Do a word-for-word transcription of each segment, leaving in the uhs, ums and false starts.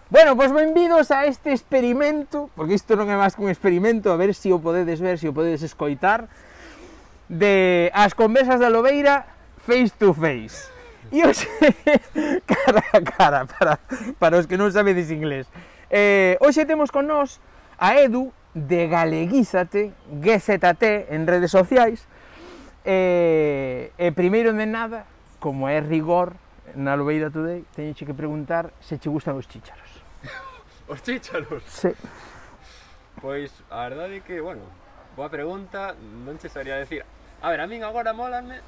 Bueno, pois benvidos a este experimento, porque isto non é máis que un experimento, a ver se o podedes ver, se o podedes escoitar, de as conversas da Lobeira face to face. E hoxe, cara a cara, para, para os que non sabedes inglés. Eh, hoxe temos con nós a Edu de Galeguízate, G Z T, en redes sociais. E, e primeiro de nada, como é rigor na Lobeira Today, teño que preguntar se che gustan os chícharos. Os chícharos? Sí. Pois, a verdade é que, bueno, boa pregunta, non che sabría decir. A ver, a min agora molanme,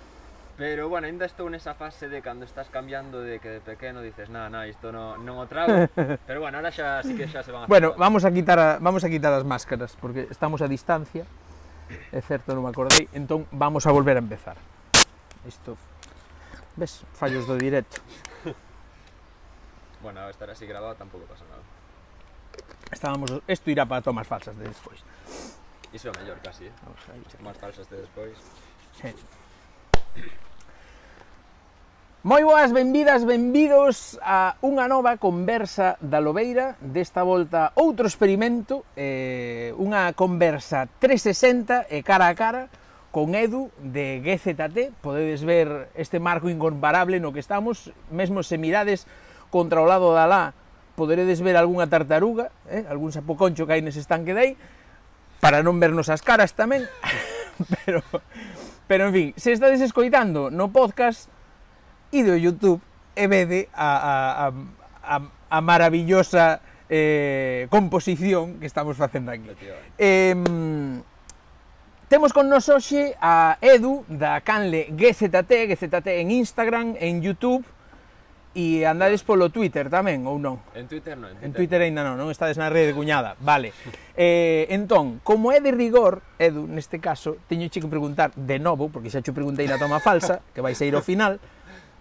pero, bueno, ainda estou nesa fase de cando estás cambiando de que de pequeno dices, na, na, isto non, non o trago, pero, bueno, ahora xa, sí que xa se van a... Bueno, vamos a quitar a, vamos a quitar as máscaras, porque estamos a distancia, é certo, non me acordei, entón vamos a volver a empezar. Isto, ves, fallos do directo. Bueno, a estar así grabado tampouco pasa nada. Estábamos, isto irá para tomas falsas de despois. Iso é o mellor, casi, eh? Vamos aí. Tomas falsas de despois. Sí. Moi boas, benvidas, benvidos a unha nova conversa da Lobeira, desta volta outro experimento, eh, unha conversa trescentos sesenta e cara a cara con Edu de G Z T. Podedes ver este marco incomparable no que estamos, mesmo se mirades contra o lado da lá, poderedes ver algunha tartaruga, eh, algún sapoconcho que hai nese estanque de aí, para non vernos as caras tamén, pero, pero en fin, se estades escoitando no podcast, ide ao YouTube e vede a, a, a, a maravillosa eh, composición que estamos facendo aquí. Eh, temos con nos hoxe a Edu da canle G Z T, G Z T en Instagram, en YouTube, e andades polo Twitter tamén, ou non? En Twitter non, en Twitter, en Twitter ainda non, non estades na rede cuñada, vale. Eh, entón, como é de rigor, Edu, neste caso, teño che que preguntar de novo, porque xa che preguntei na toma falsa, que vai ser ao final,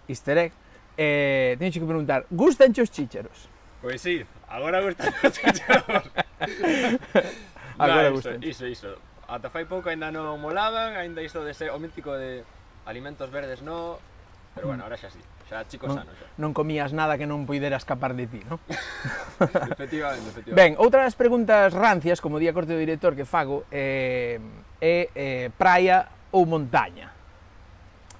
easter egg, eh, teño che que preguntar, gustanche os chícharos? Pois sí, agora gustan os chícharos. Agora no, gustan. Iso, iso, ata fai pouco ainda non molaban, ainda isto de ser o mítico de alimentos verdes no, pero bueno, ahora xa sí. Xa chico non, sano, xa. Non comías nada que non puidera escapar de ti, non? Efectivamente, efectivamente. Ben, outra das preguntas rancias, como di a corte do director que fago, é eh, eh, praia ou montaña?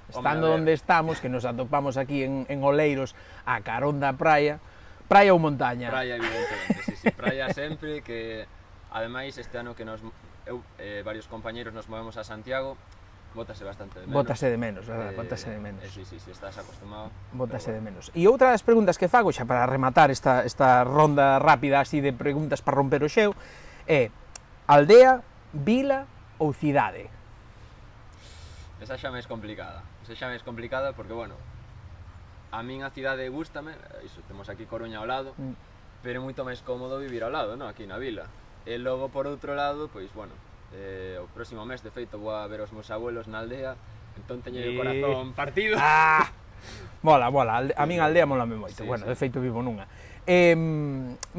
Estando onde estamos, que nos atopamos aquí en, en Oleiros, a carón da praia, praia ou montaña? Praia, evidentemente, sí, sí, praia sempre, que ademais este ano que nos, eu, eh, varios compañeros nos movemos a Santiago, bótase bastante de menos. Bótase de menos, verdad? Eh, Bótase de menos. Eh, sí, sí, sí, estás acostumado. Bótase de menos. E outra das preguntas que fago, xa para rematar esta, esta ronda rápida así de preguntas para romper o xeo, é aldea, vila ou cidade? Esa xa máis complicada. Esa xa máis complicada porque, bueno, a min a cidade gústame, iso, temos aquí Coruña ao lado, mm. pero é moito máis cómodo vivir ao lado, no? Aquí na vila. E logo, por outro lado, pois, bueno, Eh, o próximo mes, de feito, vou a ver os meus abuelos na aldea, entón teño e... o corazón partido. Ah, mola, mola, a min a aldea mola me moito, sí, bueno, sí. De feito vivo nunha. Eh,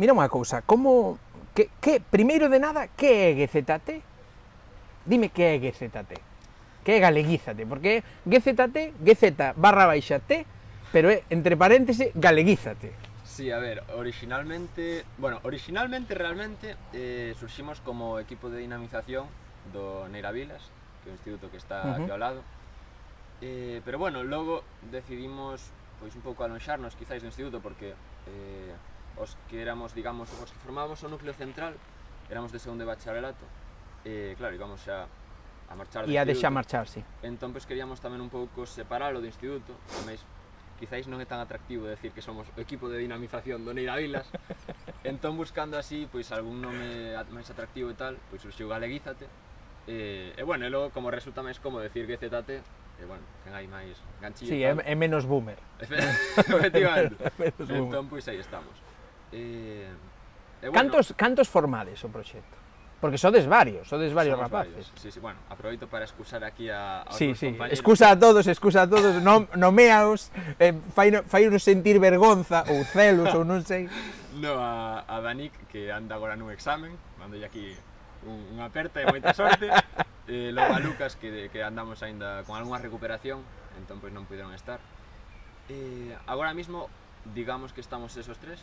mira unha cousa, como, que, que, primeiro de nada, que é G Z T? Dime que é G Z T, que é Galeguízate, porque G Z T, G Z barra baixa T, pero é, entre paréntesis, Galeguízate. Sí, a ver, originalmente, bueno, originalmente realmente eh, surximos como equipo de dinamización do Neiravilas, que é un instituto que está uh-huh. aquí ao lado, eh, pero bueno, logo decidimos pois un pouco alonxarnos quizáis do instituto porque eh, os que éramos, digamos, os que formábamos o núcleo central éramos de segundo de bacharelato, e eh, claro, íbamos xa a marchar do instituto. E a deixar marchar, sí. Entón, pois, queríamos tamén un pouco separalo do instituto, tamén quizáis non é tan atractivo decir que somos o equipo de dinamización do Neiravilas, entón buscando así, pois, algún nome máis atractivo e tal, pois surxiu Galeguízate, e, e bueno, e logo, como resulta máis como decir G Z T, e bueno, ten aí máis ganchillo. Sí, é, é menos boomer. Efectivamente. Menos entón, pois, aí estamos. E, e bueno, cantos, cantos formades o proxecto? Porque sodes varios, sodes varios rapaces. Varios. Sí, sí, bueno, aproveito para excusar aquí a, a sí, outros sí. compañeros. Excusa a todos, excusa a todos, no, nomeaos, eh, fainos sentir vergonza ou celos ou non sei. No, a, a Danik, que anda agora nun examen, mando aquí un, unha aperta e moita sorte. eh, logo a Lucas, que, que andamos aínda con algunha recuperación, entón pois non puderon estar. Eh, agora mismo, digamos que estamos esos tres,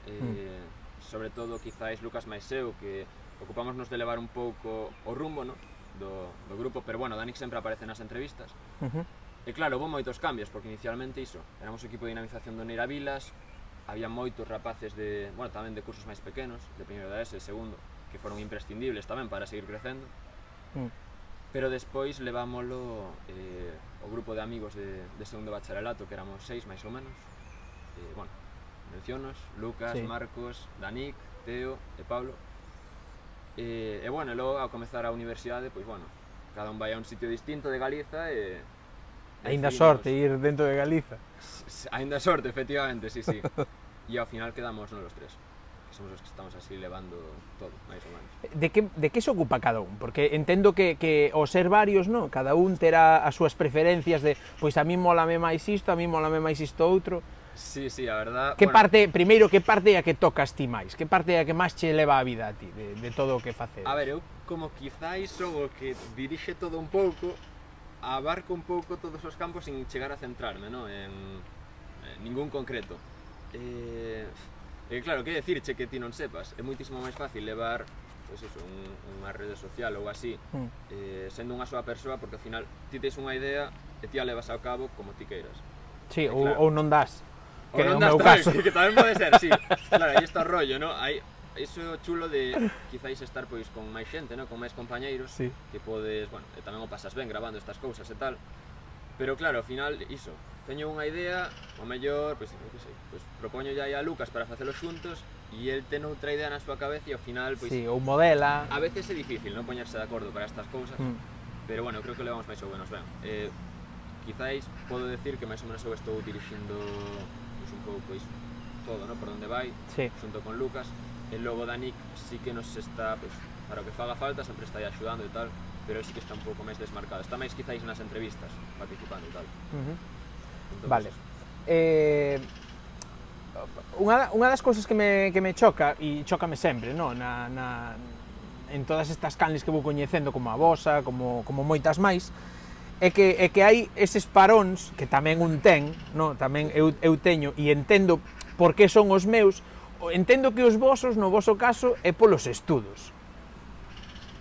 eh, mm. sobre todo quizáis Lucas máis eu, que ocupámonos de levar un pouco o rumbo, no? do, do grupo, pero bueno, Danik sempre aparece nas entrevistas. Uh -huh. E claro, houve moitos cambios, porque inicialmente iso, éramos o equipo de dinamización do Neira Vilas, había moitos rapaces de, bueno, tamén de cursos máis pequenos, de primeiro da ESE, segundo, que foron imprescindibles tamén para seguir crecendo. Mm. Pero despois levámoslo eh, o grupo de amigos de, de segundo bacharelato, que éramos seis máis ou menos. Eh, bueno, mencionos, Lucas, sí. Marcos, Danik, Teo e Pablo. E, e bueno, logo ao comezar a universidade, pois bueno, cada un vai a un sitio distinto de Galiza e... Ainda sorte ir dentro de Galiza. Ainda sorte, efectivamente, sí, sí. E ao final quedamos non os tres, que somos os que estamos así levando todo, máis ou menos. De que, de que se ocupa cada un? Porque entendo que, que ao ser varios, no? Cada un terá as súas preferencias de, pois a mí molame máis isto, a mí molame máis isto outro. Sí, sí, a verdad... Que bueno, parte, primeiro, que parte é a que tocas ti máis? Que parte é a que máis che leva a vida a ti, de, de todo o que facedes? A ver, eu como quizáis son o que dirixe todo un pouco, abarco un pouco todos os campos sin chegar a centrarme, no? en, en ningún concreto. E, e claro, que decirche que ti non sepas? É moitísimo máis fácil levar pois eso, un, unha rede social ou así, mm. eh, sendo unha soa persoa, porque ao final ti tens unha idea e ti a levas ao cabo como ti queiras. Sí, ou, claro, ou non das. Que non das tamén, que, que tamén pode ser, sí. Claro, aí está o rollo, ¿no? Hai iso chulo de quizáis estar pois con máis xente, ¿no? Con máis compañeiros, sí. Que podes, bueno, e tamén o pasas ben grabando estas cousas e tal. Pero claro, ao final, iso, teño unha idea, o mellor, pois, non sei, pois propoño ya a Lucas para facelo xuntos e el ten outra idea na súa cabeza e ao final, pois... Sí, ou modela... A veces é difícil non poñerse de acordo para estas cousas, mm. pero bueno, creo que levamos máis ou menos ben. Eh, quizáis podo decir que máis ou menos eu estou dirixindo pois, un pouco pois, todo, ¿no? Por onde vai, sí. Xunto con Lucas. E logo Danik sí que nos está, pois, para o que faga falta, sempre está aí axudando e tal, pero él sí que está un pouco máis desmarcado. Está máis quizáis nas entrevistas, participando e tal. Uh -huh. Entonces, vale. Eh, unha, unha das cousas que me, que me choca, e chócame sempre, no? na, na, en todas estas canles que vou coñecendo, como a vosa, como, como moitas máis, é que, é que hai eses paróns, que tamén un ten, no? Tamén eu, eu teño, e entendo por que son os meus, entendo que os vosos, no voso caso, é polos estudos.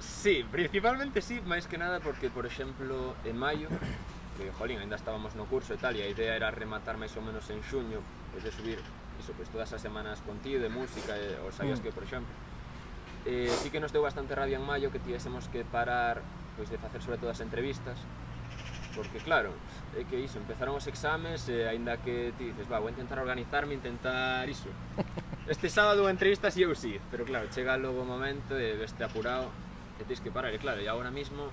Sí, principalmente sí, máis que nada porque, por exemplo, en maio, que, jolín, ainda estábamos no curso e tal, e a idea era rematar máis ou menos en xuño, pois de subir, iso, pois todas as semanas contido, de música, e, o sabías mm. que, por exemplo, eh, sí que nos deu bastante rabia en maio que tivésemos que parar, pois de facer sobre todo as entrevistas, porque claro, é que iso, empezaron os exames e aínda que ti dices, va, vou intentar organizarme, intentar iso. Este sábado entrevistas e eu sí, pero claro, chega logo o momento e veste apurado e tens que parar, e claro, e agora mismo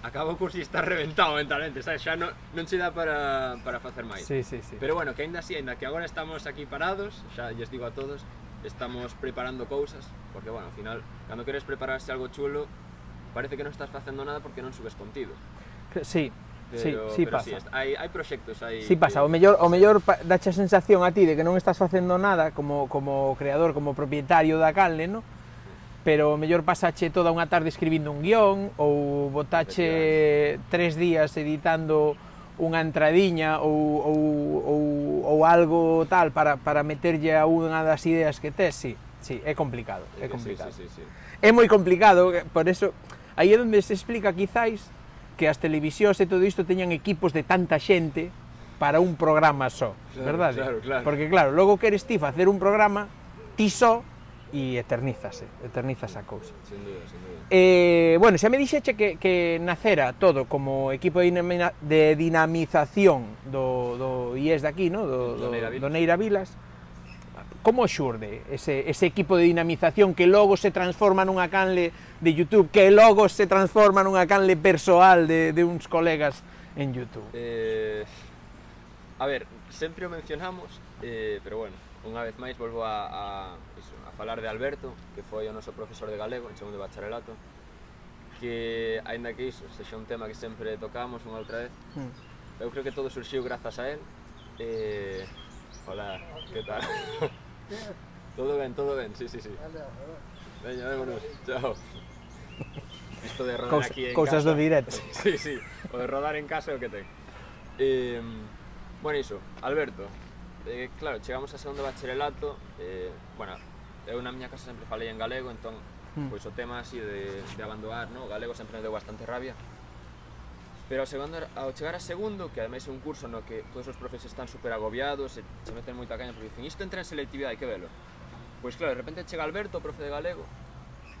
acaba o curso e estás reventado mentalmente, sabes? Xa non, non che dá para, para facer máis. Sí, sí, sí. Pero bueno, que aínda así, aínda que agora estamos aquí parados, xa lles digo a todos, estamos preparando cousas, porque bueno, ao final, cando queres prepararse algo chulo, parece que non estás facendo nada porque non subes contido. Sí. Pero, sí, sí pero pasa. Sí, hai, hai proxectos aí. Sí pasa, o mellor, o mellor dache a sensación a ti de que non estás facendo nada como, como creador, como propietario da canle, no? Pero o mellor pasache toda unha tarde escribindo un guión ou botache tres días editando unha entradiña ou, ou, ou, ou algo tal para, para meterlle a unha das ideas que tes, sí, sí, é complicado, é complicado. Sí, sí, sí, sí. É moi complicado, por eso, aí é onde se explica quizáis que as televisións e todo isto teñan equipos de tanta xente para un programa só, claro, verdade? Claro, claro. Porque claro, logo queres ti facer un programa ti só e eternízase, eternizas a cousa. Sin duda, sin duda. Eh, bueno, xa me dixeche que, que nacera todo como equipo de, dinamina, de dinamización do, do I E S de aquí, no? do, do, do Neira Vilas. Como xurde ese, ese equipo de dinamización que logo se transforma nunha canle de YouTube, que logo se transforma nunha canle persoal de, de uns colegas en YouTube? Eh, a ver, sempre o mencionamos, eh, pero bueno, unha vez máis volvo a, a, iso, a falar de Alberto, que foi o noso profesor de galego en segundo de bacharelato, que, aínda que iso sexa un tema que sempre tocamos unha outra vez, mm. eu creo que todo surxiu grazas a él. Eh, hola, que tal? Todo ben, todo ben, sí, sí, sí. Veña, vémonos, chao. Isto de rodar Cous, aquí en cousas casa... do directo. Sí, sí, o de rodar en casa é o que ten. Eh, bueno, iso, Alberto, eh, claro, chegamos a segundo bacharelato, eh, bueno, eu na miña casa sempre falei en galego, entón, mm. pois o tema así de, de abandonar, no? O galego sempre me deu bastante rabia. Pero ao, segundo, ao chegar a segundo, que ademais é un curso no que todos os profes están super agobiados, e se meten moita caña porque dicen, isto entra en selectividade, hai que velo. Pois claro, de repente chega Alberto, o profe de galego,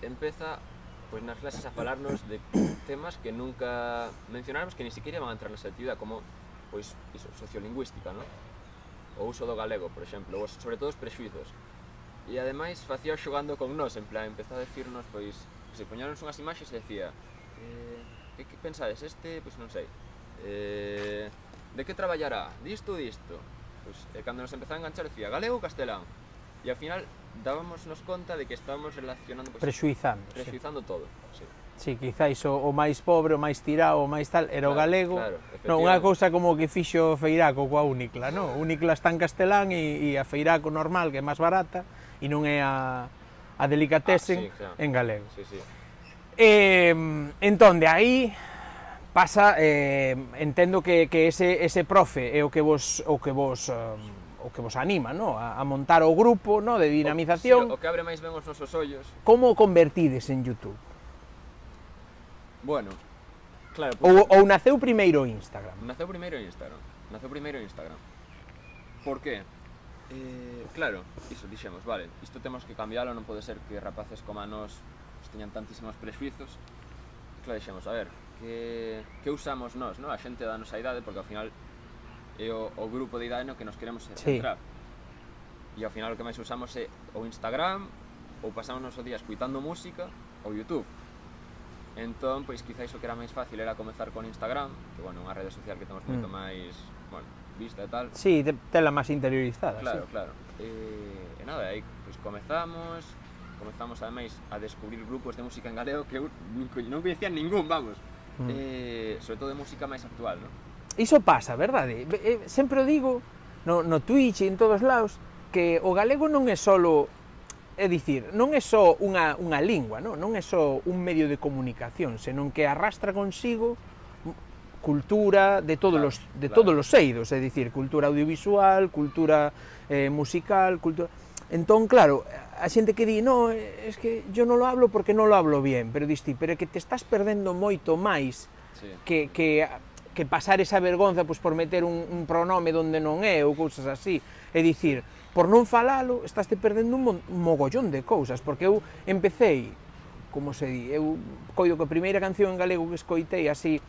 empeza pois nas clases a falarnos de temas que nunca mencionáramos, que ni siquiera van a entrar na selectividade, como pois iso, sociolingüística, no? O uso do galego, por exemplo, ou sobre todo os prexuizos. E ademais facía xogando con nós, en plan, empezou a decirnos, pois, se poñáronos unhas imaxes e decía, eh, que, que pensades, este, pois non sei, eh, de que traballará, disto ou disto? Pois, e cando nos empezaba a enganchar, decía, galego ou castelán? E ao final dábamos-nos conta de que estábamos relacionando, pois, prexuizando, prexuizando sí. todo, sí. Sí, quizáis o, o máis pobre, o máis tirado, o máis tal, era claro, o galego. Claro, non, unha cousa como que fixo Feiraco coa Únicla, non? Únicla está en castelán e, e a Feiraco normal, que é máis barata, e non é a, a delicatessen ah, sí, claro. en galego. Sí, sí. Eh, entón, de aí pasa, eh, entendo que, que ese, ese profe é o que vos, o que vos, um, o que vos anima, no? a, a montar o grupo, no? De dinamización. O, sí, o que abre máis ben os nosos ollos. Como o convertides en YouTube? Bueno, claro... Pues, ou, ou naceu primeiro Instagram? Naceu primeiro Instagram. Naceu primeiro Instagram. Por qué? Eh, claro, iso, dixemos, vale, isto temos que cambiálo, non pode ser que rapaces como a nós teñan tantísimos prexuizos. Claro, dixemos, a ver, que, que usamos nós, no? A xente da nosa idade, porque ao final é o, o grupo de idade no que nos queremos centrar. Sí. E ao final o que máis usamos é o Instagram, ou pasamos o noso día escuitando música, ou YouTube. Entón, pois, quizáis o que era máis fácil era comezar con Instagram, que, bueno, unha rede social que temos moito mm. máis, bueno, vista e tal. Sí, tela máis interiorizada, claro, sí. Claro, e, e nada, aí, pois, comezamos, comezamos, ademais, a descubrir grupos de música en galego que eu non coñecía ningún, vamos. Mm. E, sobre todo de música máis actual, non? Iso pasa, verdade? Sempre o digo, no, no Twitch e en todos lados, que o galego non é solo... É dicir, non é só unha, unha lingua, non? non é só un medio de comunicación, senón que arrastra consigo cultura de todos claro, os de claro. todos os eidos, é dicir, cultura audiovisual, cultura eh, musical, cultura... Entón, claro, a xente que di, no, es que yo non lo hablo porque non lo hablo bien, pero dis ti, pero é que te estás perdendo moito máis sí. que, que, que pasar esa vergonza pois, por meter un, un pronome donde non é, ou cousas así, é dicir, por non falalo, estás te perdendo un mogollón de cousas, porque eu empecéi, como se di, eu coido que a primeira canción en galego que escoitei así,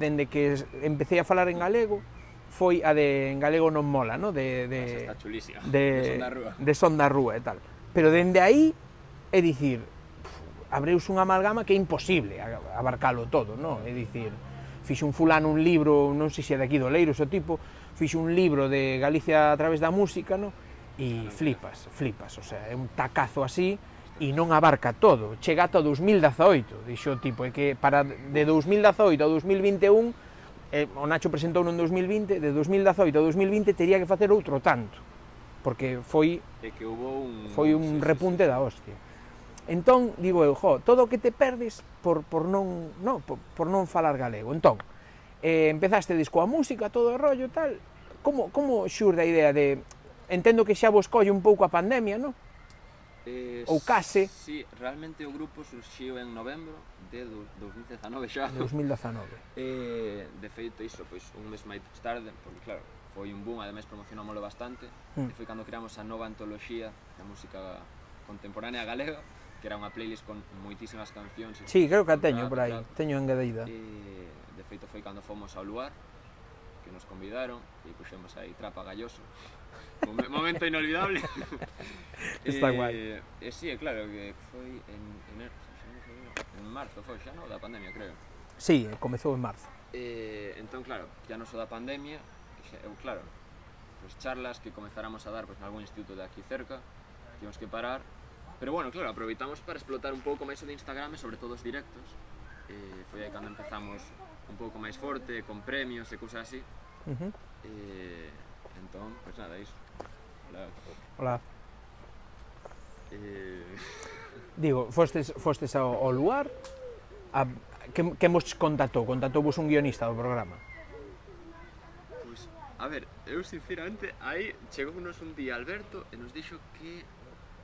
dende que empecé a falar en galego, foi a de En galego non mola, no? de, de, está chulísima, de, de, Son da Rúa. de Son da Rúa e tal. Pero dende aí, é dicir, abreuse unha amalgama que é imposible abarcalo todo, no? É dicir, fixe un fulano un libro, non sei se é de aquí do Leiros o tipo, fixe un libro de Galicia a través da música, no? E flipas, flipas, o sea, é un tacazo así e non abarca todo, chega ata o dos mil dezaoito, dixo o tipo, é que para de dos mil dezaoito a dos mil vinte e un, eh, o Nacho presentou no dos mil vinte, de dos mil dezaoito a dos mil vinte tería que facer outro tanto, porque foi é que hubo un foi un sí, repunte sí, sí. da hostia. Entón, digo eu, jo, todo o que te perdes por, por, non, no, por, por non falar galego. Entón, eh, empezaste disco a música, todo o rollo, tal, como, como xurde a idea de... Entendo que xa vos colle un pouco a pandemia, non? Eh, Ou case. Sí, realmente o grupo surxiu en novembro de dos mil dezanove xa. dos mil dezanove. Eh, de feito, iso, pois, un mes máis tarde, porque claro, foi un boom, ademais promocionámoslo bastante, mm. e foi cando creamos a nova antoloxía da música contemporánea galega, que era unha playlist con moitísimas cancións. Sí, creo que a teño por aí, teño engadeída. Eh, de feito foi cando fomos ao lugar, que nos convidaron, e puxemos aí Trapa Galloso. Un momento inolvidable. Está eh, guai. E eh, sí, claro, que foi en, en, en marzo, foi xa, non? Da pandemia, creo. Sí, comezou en marzo. Eh, entón, claro, ya non só da pandemia, eu, claro, pues charlas que comezáramos a dar pues, en algún instituto de aquí cerca, tivemos que parar, pero bueno, claro, aproveitamos para explotar un pouco máis o de Instagram e sobre todo os directos. Eh, foi aí cando empezamos un pouco máis forte, con premios e cousas así. Uh -huh. eh, entón, pues nada, iso. Hola. Hola. Eh... Digo, fostes, fostes ao, ao lugar, a, que, que mos contactou? Contactou vos un guionista do programa? Pois, a ver, eu sinceramente, aí chegounos un día Alberto e nos dixo que...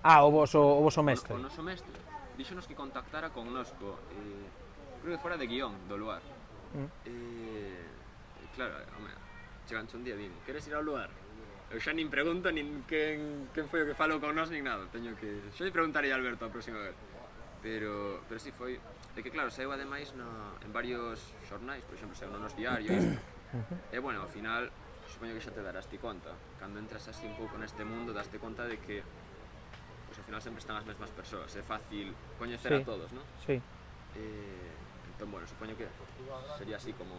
Ah, o voso, o voso mestre. O, o noso mestre. Díxonos que contactara con nosco, eh, creo que fora de guión do lugar. Mm. Eh, claro, home, cheganche un día e din, queres ir ao lugar? Eu xa nin pregunto nin quen, quen foi o que falou con nos nin nada, teño que... Xa lle preguntarei a Alberto a próxima vez. Pero, pero si sí, foi... É que claro, saiu ademais no, en varios xornais, por exemplo, saiu no nos diario isto. E bueno, ao final, supoño que xa te darás ti conta. Cando entras así un pouco neste mundo, daste conta de que pues, ao final sempre están as mesmas persoas. É fácil coñecer sí. a todos, non? Sí. Eh, entón, bueno, supoño que sería así como...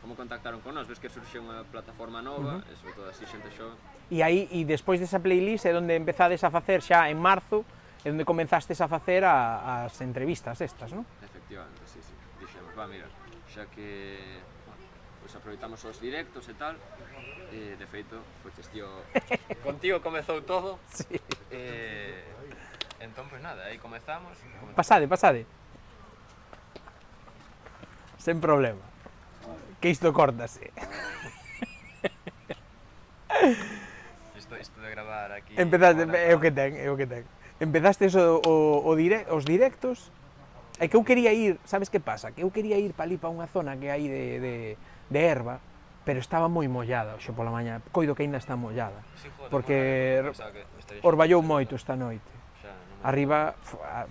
Como contactaron con nós, ves que surxe unha plataforma nova, uh -huh. e sobre todo así xente xova. E aí, e despois desa playlist é onde empezades a facer xa en marzo, é onde comenzastes a facer a, as entrevistas estas, non? Efectivamente, sí, sí. Dixemos, va, mira, xa que bueno, pues aproveitamos os directos e tal, e de feito, foches tío, contigo comezou todo. Sí. Eh, entón, pues nada, aí comezamos. comezamos. Pasade, pasade. Sen problema. Que isto córtase. Isto, isto de gravar aquí... Empezaste, é o que ten, é o que ten. Empezaste o, o, o dire, os directos, é que eu quería ir, sabes que pasa? Que eu quería ir para ali, para unha zona que hai de, de, de erva, pero estaba moi mollada hoxe pola mañá, coido que aínda está mollada, sí, joder, porque orballou moito esta noite. Xa, no arriba,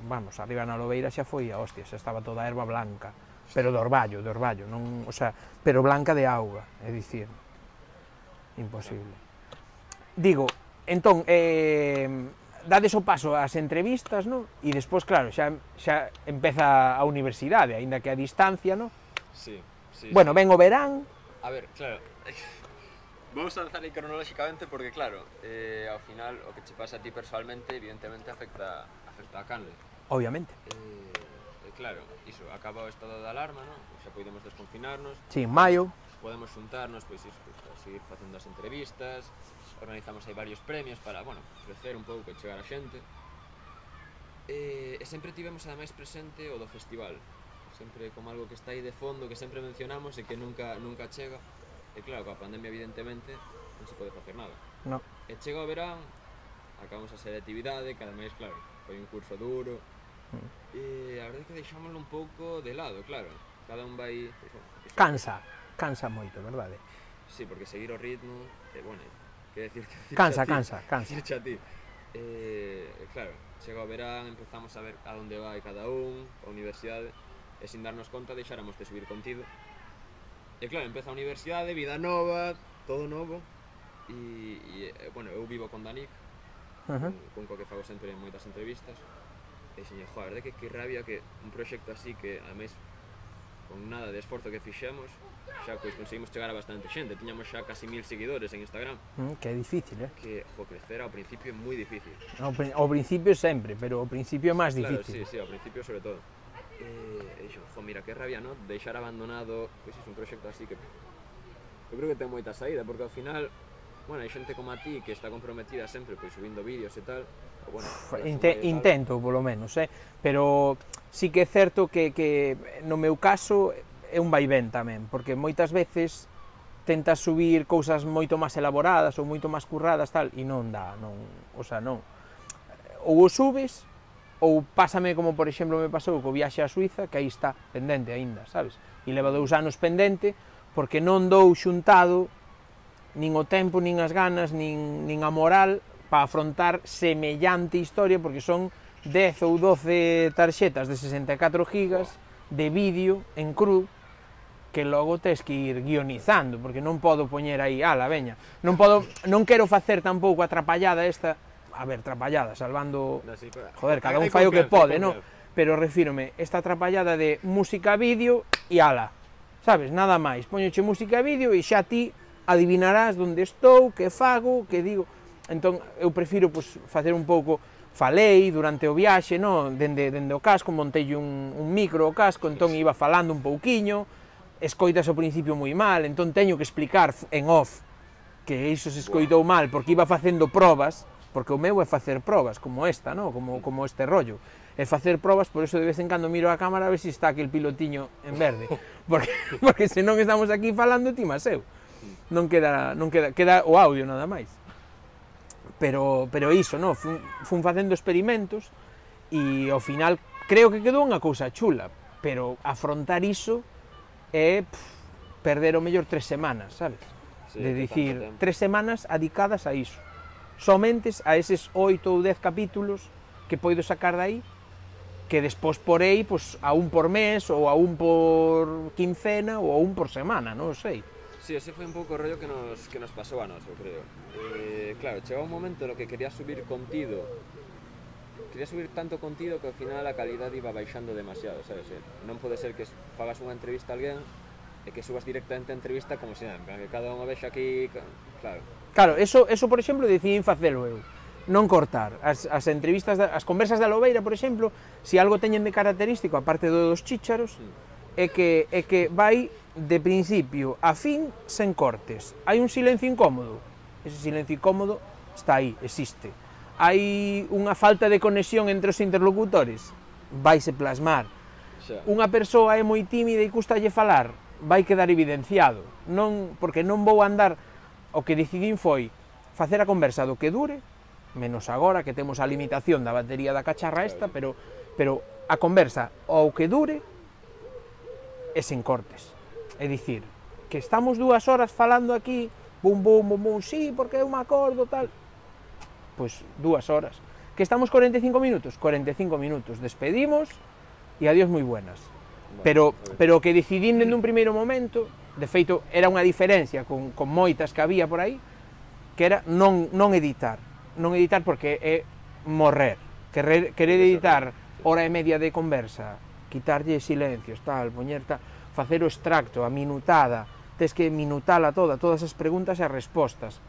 vamos, arriba na Lobeira xa foi a hostia, xa estaba toda a erva blanca. Pero de orballo, de orballo, non, o sea, pero blanca de auga, é dicir, imposible. Digo, entón, eh, dades o paso ás entrevistas, non? E despois, claro, xa, xa empeza a universidade, aínda que a distancia, non? Sí, sí. Bueno, ven o verán... A ver, claro, vamos a avanzar aí cronolóxicamente porque, claro, eh, ao final, o que che pasa a ti personalmente, evidentemente, afecta, afecta a Canle. Obviamente. Eh, Claro, iso, acaba o estado de alarma, non? Xa podemos desconfinarnos. Sí, en maio. Podemos xuntarnos, pois iso, pois, a seguir facendo as entrevistas, organizamos aí varios premios para, bueno, crecer un pouco e chegar a xente. E, e sempre tivemos ademais presente o do festival, sempre como algo que está aí de fondo, que sempre mencionamos e que nunca, nunca chega. E claro, coa pandemia evidentemente non se pode facer nada. No. E chega o verán, acabamos a selectividade, que ademais, claro, foi un curso duro. Mm. E a verdade é que deixámoslo un pouco de lado, claro, cada un vai... Pues, bueno, cansa, cansa moito, verdade? Sí, porque seguir o ritmo, eh, bueno, que decir que... Cansa, cansa, cansa. Dirche a ti. Eh, claro, chega o verán, empezamos a ver a onde vai cada un, a universidade, e sin darnos conta deixáramos de subir contido. E claro, empeza a universidade, vida nova, todo novo, e, e bueno, eu vivo con Danic, uh -huh. con, con co que fago sempre en moitas entrevistas, e xeñe, joa, a verdade que que rabia que un proxecto así que, ademais, con nada de esforzo que fixemos, xa pois conseguimos chegar a bastante xente, tiñamos xa casi mil seguidores en Instagram. Mm, que é difícil, eh? Que, jo, crecer ao principio é moi difícil. Ao, ao principio sempre, pero ao principio é máis difícil. Claro, sí, sí, ao principio sobre todo. E, e dixo, jo, mira, que rabia, non? Deixar abandonado, pois é un proxecto así que... Eu creo que ten moita saída, porque ao final, bueno, hai xente como a ti que está comprometida sempre, pois subindo vídeos e tal. Bueno, Inte, intento, polo menos, eh? Pero sí que é certo que, que no meu caso é un vaivén tamén, porque moitas veces tentas subir cousas moito máis elaboradas ou moito máis curradas tal, e non dá, non, o sea, non. Ou o subes, ou pásame como por exemplo me pasou co viaxe a Suiza, que aí está pendente aínda, sabes? E leva dous anos pendente, porque non dou xuntado nin o tempo, nin as ganas, nin, nin a moral para afrontar semellante historia, porque son dez ou doce tarxetas de sesenta e catro gigas de vídeo en cru que logo tes que ir guionizando, porque non podo poñer aí, ala, veña, non podo, non quero facer tampouco a trapallada esta, a ver, trapallada, salvando, joder, cada un fai o que pode, non? Pero refírome, esta trapallada de música vídeo e ala, sabes, nada máis, poñoche música vídeo e xa ti adivinarás onde estou, que fago, que digo. Entón, eu prefiro pues, facer un pouco, falei durante o viaxe, no? dende, dende o casco, montei un, un micro ao casco, entón iba falando un pouquiño, escoitas ao principio moi mal, entón teño que explicar en off que iso se escoitou mal, porque iba facendo probas, porque o meu é facer probas, como esta, no? como, como este rollo, é facer probas, por eso de vez en cando miro a cámara a ver se si está aquel pilotiño en verde, porque, porque senón estamos aquí falando ti máis eu. non queda, non queda, queda o audio nada máis. Pero, pero iso, no? Fun, fun facendo experimentos e ao final creo que quedou unha cousa chula, pero afrontar iso é pff, perder o mellor tres semanas, sabes? Sí, de dicir, tres semanas adicadas a iso. Somentes a eses oito ou dez capítulos que poido sacar dai, que despois porei pues, a un por mes, ou a un por quincena, ou a un por semana, non sei. Sí, ese foi un pouco o rollo que nos, que nos pasou a nos, eu creo. Eh, claro, chegou un momento no que quería subir contido, quería subir tanto contido que ao final a calidad iba baixando demasiado, sabes? Non pode ser que fagas unha entrevista a alguén e que subas directamente a entrevista como se nada, que cada unha vexa aquí, claro. Claro, eso, eso por exemplo, decidín facelo eu, non cortar. As, as entrevistas, da, as conversas da Lobeira, por exemplo, se si algo teñen de característico, aparte dos chícharos, mm. é, que, é que vai de principio a fin sen cortes. Hai un silencio incómodo, ese silencio incómodo está aí, existe. Hai unha falta de conexión entre os interlocutores, vaise plasmar. Xa. Unha persoa é moi tímida e custalle falar, vai quedar evidenciado. Non, porque non vou andar, o que decidín foi facer a conversa do que dure, menos agora que temos a limitación da batería da cacharra esta, pero, pero a conversa ao que dure e sen cortes. É dicir, que estamos dúas horas falando aquí, bum, bum, bum, bum, sí, porque eu me acordo, tal. Pois dúas horas. Que estamos cuarenta e cinco minutos? cuarenta e cinco minutos. Despedimos e adiós moi buenas. Bueno, pero, pero o que decidín dende un primeiro momento, de feito, era unha diferencia con, con moitas que había por aí, que era non, non editar. Non editar porque é morrer. Querer, querer editar hora e media de conversa, quitarlle silencios, tal, poñer tal, facer o extracto, a minutada, tes que minutala toda, todas as preguntas e as respostas.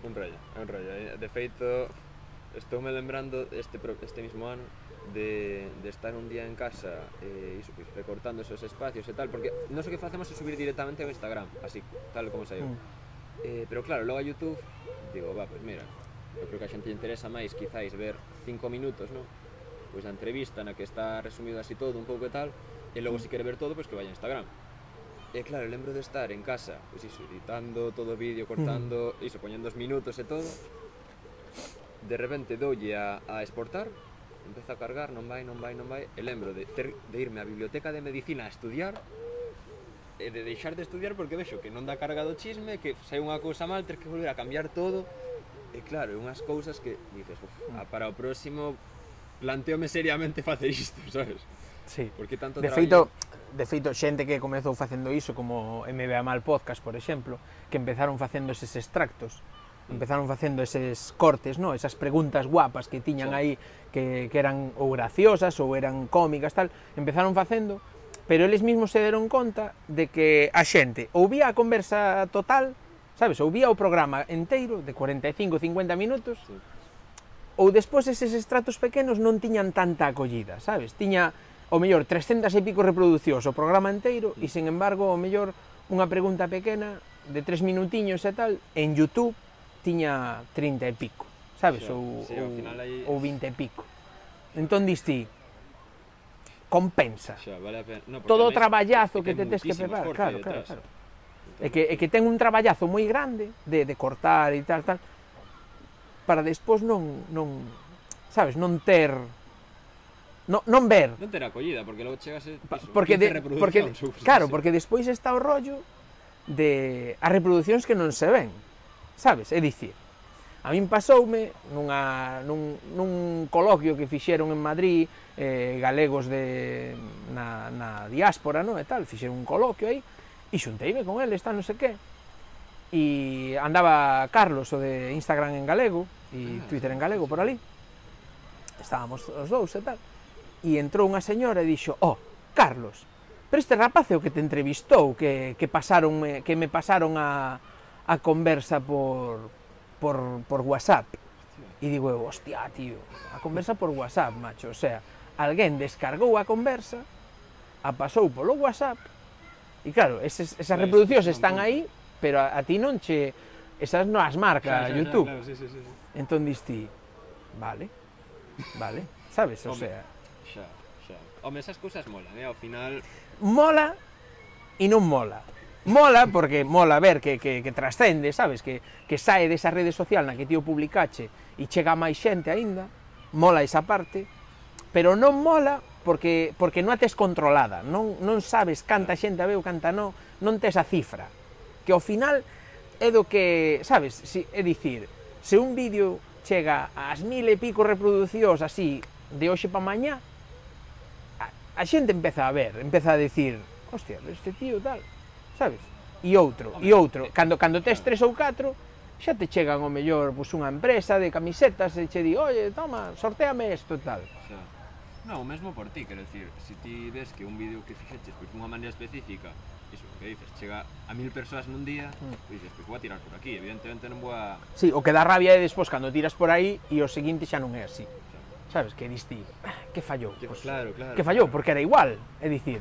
Un rollo, un rollo. De feito, estoume lembrando este, este mismo ano de, de estar un día en casa e eh, iso, pues, recortando esos espacios e tal, porque non sei que facemos é subir directamente ao Instagram, así, tal como saiu. Mm. Eh, pero claro, logo a YouTube, digo, va, pues mira, eu creo que a xente interesa máis quizáis ver cinco minutos, non? Pois a entrevista na que está resumido así todo, un pouco e tal, e logo se quere ver todo, pois que vaya a Instagram. E claro, lembro de estar en casa, pois iso, editando todo o vídeo, cortando, mm. iso, poñendo os minutos e todo. De repente doulle a, a exportar, empeza a cargar, non vai, non vai, non vai, e lembro de, ter, de irme á biblioteca de medicina a estudiar, e de deixar de estudiar porque vexo que non dá carga do chisme, que sai unha cousa mal, ter que volver a cambiar todo, e claro, unhas cousas que dices, uf, para o próximo planteome seriamente facer isto, sabes? Sí, porque tanto de feito, de feito, xente que comezou facendo iso, como M B A Mal Podcast, por exemplo, que empezaron facendo eses extractos, mm. empezaron facendo eses cortes, no? Esas preguntas guapas que tiñan sí. aí, que, que eran ou graciosas ou eran cómicas, tal, empezaron facendo, pero eles mesmos se deron conta de que a xente ou vía a conversa total, sabes, ou vía o programa enteiro, de cuarenta e cinco a cincuenta minutos, sí. ou despois eses extractos pequenos non tiñan tanta acollida, sabes, tiña o mellor trescentas e pico reproducións o programa enteiro e, sen embargo, o mellor unha pregunta pequena de tres minutiños e tal, en YouTube tiña trinta e pico, sabes, sí, ou, sí, ou, aí... ou vinte e pico. Entón, diste, compensa. Xa, vale a pena. No, todo o traballazo que te tes que preparar, claro, claro, claro. É que, é que ten un traballazo moi grande de, de cortar e tal, tal, para despois non, non, sabes, non ter... No, non ver. Non ter acollida, porque logo chegas e porque de, porque claro, porque despois está o rollo de as reproducións que non se ven, sabes? É dicir, a min pasoume nunha, nun, nun coloquio que fixeron en Madrid, eh, galegos de, na, na diáspora, no? E tal, fixeron un coloquio aí, e xunteime con eles, tal, non sei que, e andaba Carlos, o de Instagram en galego, e ah, Twitter en galego por ali, estábamos os dous e tal, e entrou unha señora e dixo, oh, Carlos, pero este rapaz é o que te entrevistou, que, que, pasaron, que me pasaron a, a conversa por, por, por WhatsApp. E digo eu, hostia, tío, a conversa por WhatsApp, macho, o sea, alguén descargou a conversa, a pasou polo WhatsApp, e claro, eses, esas reproduccións están aí, pero a, a ti non che, esas non as marca YouTube. Claro, sí, sí, sí. Entón diste, vale, vale, sabes, o sea... Xa, xa. Home, esas cousas molan, eh? Ao final... Mola e non mola. mola porque mola ver que, que, que trascende, sabes, que, que sae desa rede social na que ti o publicache e chega a máis xente aínda, mola esa parte, pero non mola porque, porque non a tes controlada, non, non sabes canta xente a veu, canta non, non tes a cifra, que ao final é do que, sabes, si, é dicir, se un vídeo chega ás mil e pico reproducións así, de hoxe pa mañá, a, a xente empeza a ver, empeza a decir, hostia, este tío tal, sabes? E outro, e outro, cando, cando tes tres ou catro, xa te chegan ao mellor pues, unha empresa de camisetas e che di, oye, toma, sorteame isto e tal. O sea, non, o mesmo por ti, quero dicir, se ti ves que un vídeo que fixeches pois, dunha maneira específica, iso, que dices, chega a mil persoas nun día, mm. pois dices, pois vou a tirar por aquí, evidentemente non vou a... Sí, o que dá rabia é despois cando tiras por aí e o seguinte xa non é así. Sabes, que diste, que fallou? Que, pues, claro, claro. Que fallou, claro. porque era igual, é dicir,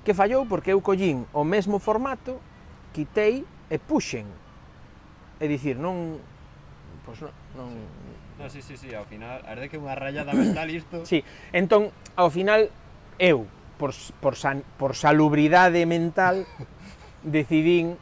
que fallou porque eu collín o mesmo formato, quitei e puxen. É dicir, non... Pois non... non... No, sí, sí, sí, ao final, a verdade que é unha rayada mental isto... Sí, entón, ao final, eu, por, por, san, por salubridade mental, decidín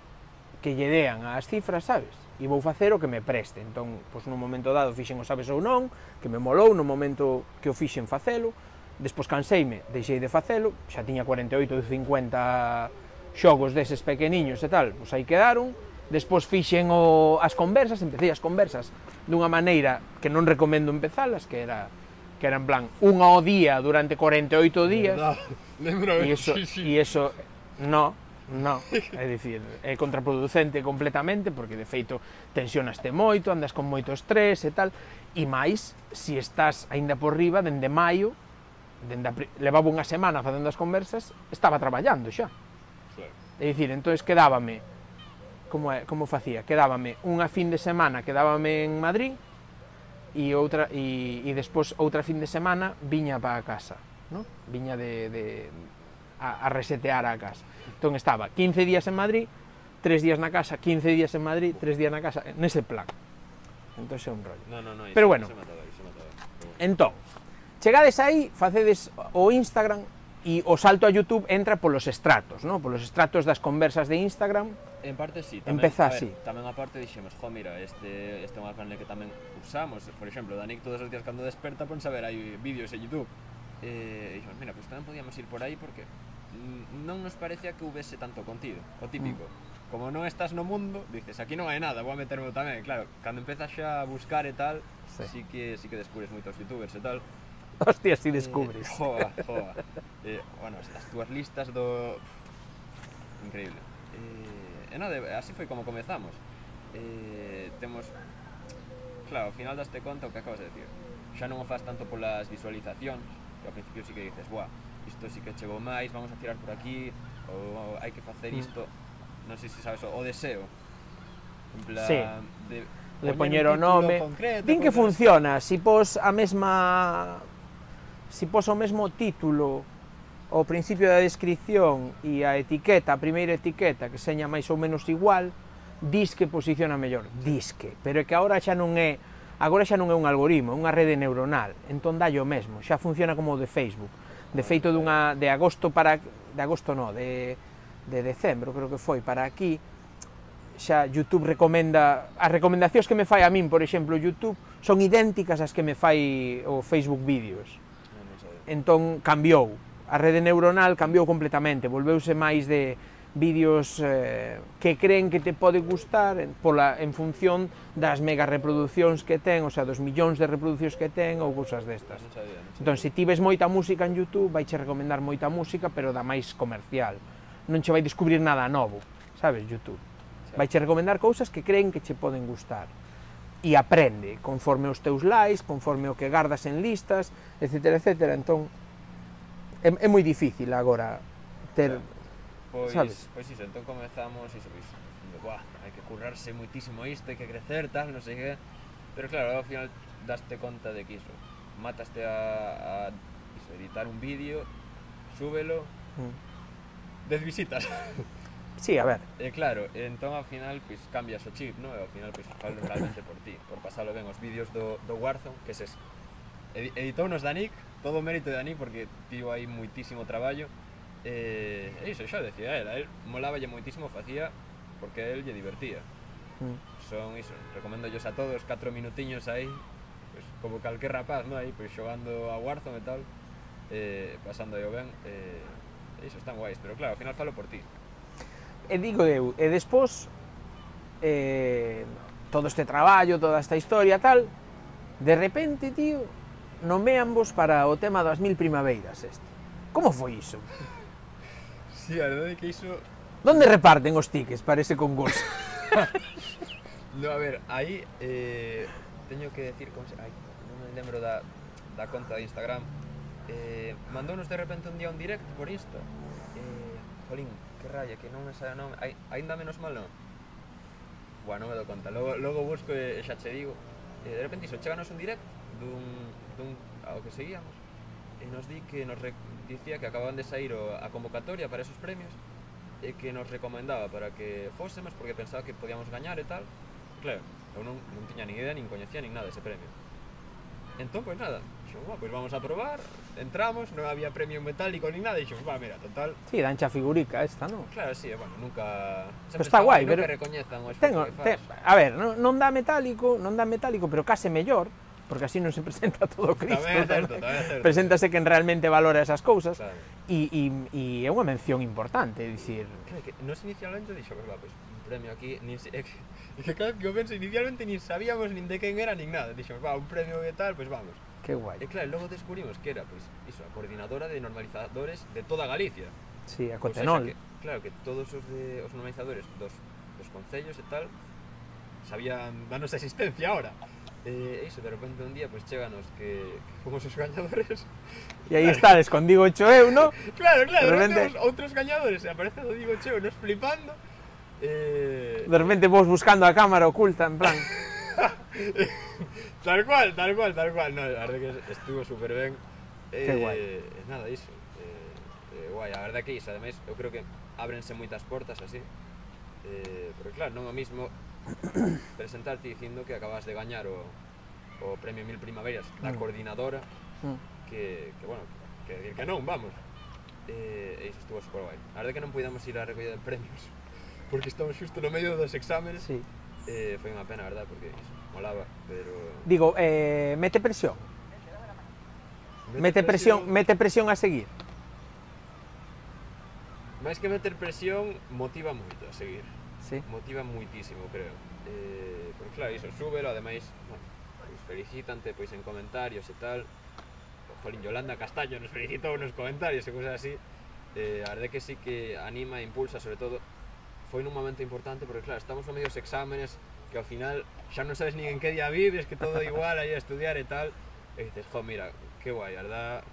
que lle dean as cifras, sabes? E vou facer o que me preste. Entón, pois, nun momento dado fixen o sabes ou non, que me molou, no momento que o fixen facelo, despois canseime, deixei de facelo, xa tiña cuarenta e oito de cincuenta xogos deses pequeniños e tal, pois aí quedaron. Despois fixen o, as conversas, empecé as conversas dunha maneira que non recomendo empezalas, que era que era en plan unha ao día durante cuarenta e oito días. Lembro, e eso, sí, sí. e eso, no, no, é dicir, é contraproducente completamente, porque de feito tensionaste moito, andas con moito estrés e tal, e máis, se estás aínda por riba, dende maio, dende a, levaba unha semana facendo as conversas, estaba traballando xa. É dicir, entonces quedábame, como, é, como facía, quedábame unha fin de semana, quedábame en Madrid, e outra e, e despois outra fin de semana viña para a casa, ¿no? Viña de, de a, a resetear a casa. Entón estaba quince días en Madrid, tres días na casa, quince días en Madrid, tres días na casa, nese plan. Entón é un rollo. No, no, no, pero bueno, entón, chegades aí, facedes o Instagram e o salto a YouTube entra polos estratos, ¿no? Polos estratos das conversas de Instagram. En parte sí, tamén, empeza a ver, así. Tamén a parte dixemos, jo, mira, este, este é unha canle que tamén usamos, por exemplo, Danic todos os días cando desperta pon saber hai vídeos en YouTube. Eh, e dixemos, mira, pues tamén podíamos ir por aí porque non nos parecía que houvese tanto contido, o típico. Mm. Como non estás no mundo, dices, aquí non hai nada, vou a meterme tamén. Claro, cando empezas xa a buscar e tal, sí, sí que, sí que descubres moitos youtubers e tal. Hostia, si descubres. Eh, joa, joa. Eh, bueno, as túas listas do... Increíble. Eh, e non, así foi como comezamos. Eh, temos... Claro, ao final daste conta o que acabas de decir. Xa non o faz tanto polas visualizacións, que ao principio sí que dices, buah, isto sí que chegou máis, vamos a tirar por aquí, ou hai que facer isto, mm. non sei se sabes, o deseo. En plan, sí. de, de poñer o nome. Concreto, din que funciona, si pos a mesma... Si pos o mesmo título ao principio da descripción e a etiqueta, a primeira etiqueta, que seña máis ou menos igual, dis que posiciona mellor, disque, pero é que agora xa non é, agora xa non é un algoritmo, é unha rede neuronal, entón dai o mesmo, xa funciona como o de Facebook. De feito dunha de agosto para de agosto no, de de decembro, creo que foi para aquí, xa YouTube recomenda, as recomendacións que me fai a min, por exemplo, YouTube, son idénticas ás que me fai o Facebook Vídeos. Entón cambiou, a rede neuronal cambiou completamente, volveuse máis de vídeos eh, que creen que te pode gustar en, pola, en función das mega reproduccións que ten, o sea, dos millóns de reproduccións que ten ou cousas destas. Non sabía, non sabía. Entón, se ti ves moita música en YouTube, vai che recomendar moita música, pero da máis comercial. Non che vai descubrir nada novo, sabes, YouTube. Vai che recomendar cousas que creen que che poden gustar. E aprende, conforme os teus likes, conforme o que gardas en listas, etcétera, etcétera. Entón, é, é moi difícil agora ter... Pois, sabes? Pois iso, entón comezamos iso, pois, de, buah, hai que currarse moitísimo isto, hai que crecer, tal, non sei que... Pero claro, ao final daste conta de que iso, mataste a, a iso, editar un vídeo, súbelo, mm. dez visitas. Sí, a ver. E claro, entón ao final pois cambias o chip, non? E ao final pois falo realmente por ti, por pasalo ben os vídeos do, do Warzone, que ses editounos Danic, todo o mérito de Danic porque tivo aí moitísimo traballo. E eh, iso xa decía él, a él moláballe moitísimo, facía porque a él lle divertía. Mm. Son iso, recomendo a todos catro minutiños aí, pues, como calquer rapaz, ¿no? Aí, pues, xogando a Warzone e tal, eh, pasando aí o ben, eh, iso, están guais, pero claro, ao final falo por ti. E digo eu, e despois, eh, todo este traballo, toda esta historia tal, de repente, tío, nomeanvos para o tema das mil primaveiras este. Como foi iso? Sí, a verdade é que iso... Donde reparten os tickets para ese concurso? No, a ver, aí eh, teño que decir, como se... Ai, non me lembro da, da conta de Instagram. Eh, mandounos de repente un día un direct por Insta. Eh, jolín, que raya, que non me sabe non... Ai, ainda menos mal non. Bueno, non me dou conta, logo, logo busco e xa che digo. Eh, de repente iso, cheganos un direct dun, dun ao que seguíamos e nos di que nos re, dicía que acababan de sair o, a convocatoria para esos premios e que nos recomendaba para que fósemos porque pensaba que podíamos gañar e tal. Claro, eu non, non tiña nin idea, nin coñecía nin nada ese premio. Entón, pois nada, dixemos, va, pois vamos a probar, entramos, non había premio metálico nin nada, dixemos, va, mira, total... Sí, dancha figurica esta, non? Claro, sí, bueno, nunca... Pero está guai, pero... Nunca recoñezan o esforzo tengo, que faz. Te, a ver, non, non dá metálico, non dá metálico, pero case mellor, porque así non se presenta todo Cristo. Tamén é certo, tamén é certo. Preséntase quen realmente valora esas cousas, claro. e, e, e é unha mención importante, é dicir... Claro, que nos inicialmente dixo, pues, va, pues, un premio aquí, nin se... É que, é que cada vez que o penso, inicialmente nin sabíamos nin de quen era, nin nada, dixo, va, un premio e tal, pues vamos. Que guai. E claro, logo descubrimos que era, pues, iso, a coordinadora de normalizadores de toda Galicia. Sí, a Pues, Cotenol. que, claro, que todos os, de, os normalizadores dos, dos concellos e tal sabían danos existencia ahora. E eh, iso, de repente un día, pues, cheganos que, que fomos os gañadores. E aí estades con Digo Cheo eu, ¿no? Claro, claro, de repente repente... outros gañadores, e aparece o Digo Cheo, nos flipando. Eh... De repente vos buscando a cámara oculta, en plan... Tal cual, tal cual, tal cual. No, a verdade que estuvo super ben. Que eh, guai. Nada, iso. Eh, eh, guai, a verdade que iso, ademais, eu creo que ábrense moitas portas así. Eh, pero claro, non o mismo presentarte dicindo que acabas de gañar o, o premio Mil Primaveras da mm. coordinadora mm. que, que, bueno, que, que, que non, vamos. Eh, e iso estuvo super guai. A verdade que non podíamos ir á recollida de premios porque estamos xusto no medio dos exámenes. Sí. Eh, foi unha pena, a verdade, porque iso, molaba, pero... Digo, eh, mete presión. Mete, mete presión, presión, mete presión a seguir. máis que meter presión, motiva moito a seguir. Sí. Motiva muitísimo, creo. Eh, porque claro, iso, súbelo, ademais, bueno, pues felicítante pois en comentarios e tal. Jolín, Yolanda Castaño nos felicitou nos comentarios e cousas así. Eh, a verdade que sí que anima e impulsa, sobre todo, foi nun momento importante, porque claro, estamos no medio dos exámenes, que ao final xa non sabes nin en que día vives, que todo igual aí a estudiar e tal. E dices, jo, mira, que guai, a verdade,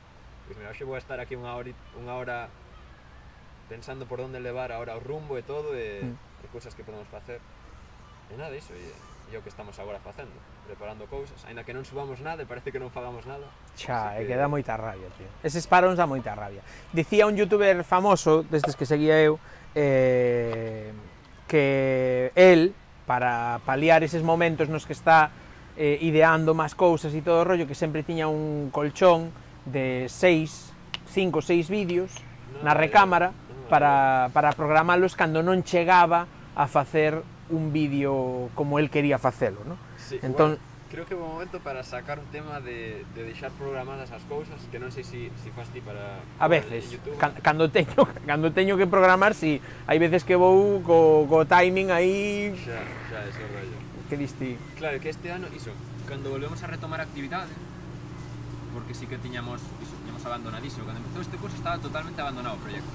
pois mira, hoxe vou a estar aquí unha hora, unha hora pensando por onde levar ahora o rumbo e todo, e... Mm. de cousas que podemos facer e nada, iso, e, e o que estamos agora facendo, preparando cousas, aínda que non subamos nada e parece que non fagamos nada. Xa, é que... que dá moita rabia, tío. Eses paróns dá moita rabia. Dicía un youtuber famoso, destes que seguía eu, eh, que el, para paliar eses momentos nos que está eh, ideando máis cousas e todo o rollo, que sempre tiña un colchón de seis, cinco, seis vídeos no, na recámara, para, para programalos cando non chegaba a facer un vídeo como el quería facelo, ¿no? Sí, entón, bueno, creo que é un momento para sacar un tema de, de deixar programadas as cousas, que non sei se si, si fas ti para... A veces, can, cando, teño, cando teño que programar, si, sí, hai veces que vou co, co timing aí... Xa, xa, ese rollo. Que diste? Claro, que este ano, iso, cando volvemos a retomar a actividade, porque sí que tiñamos, iso, tiñamos abandonadísimo, cando empezou este curso estaba totalmente abandonado o proxecto.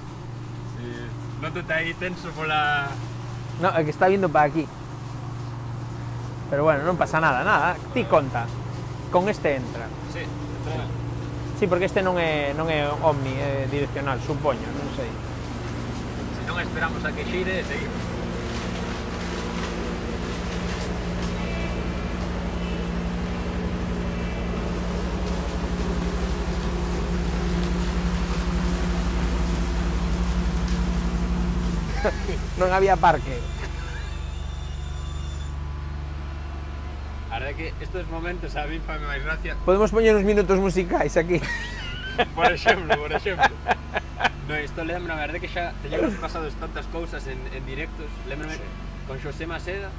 Eh, nótate aí tenso pola... No, é que está vindo para aquí. Pero bueno, non pasa nada, nada. Ti conta. Con este entra. Sí, entra. Sí, porque este non é non é omni, é direccional, supoño, non sei. Se non esperamos a que xire, seguimos. Non había parque. A verdade que estes momentos a mí fame máis gracia. Podemos poñer uns minutos musicais aquí. Por exemplo, por exemplo. No, isto lembra, a verdade que xa teñamos pasado tantas cousas en, en directos. Lembrame sí. Con Xosé Maseda,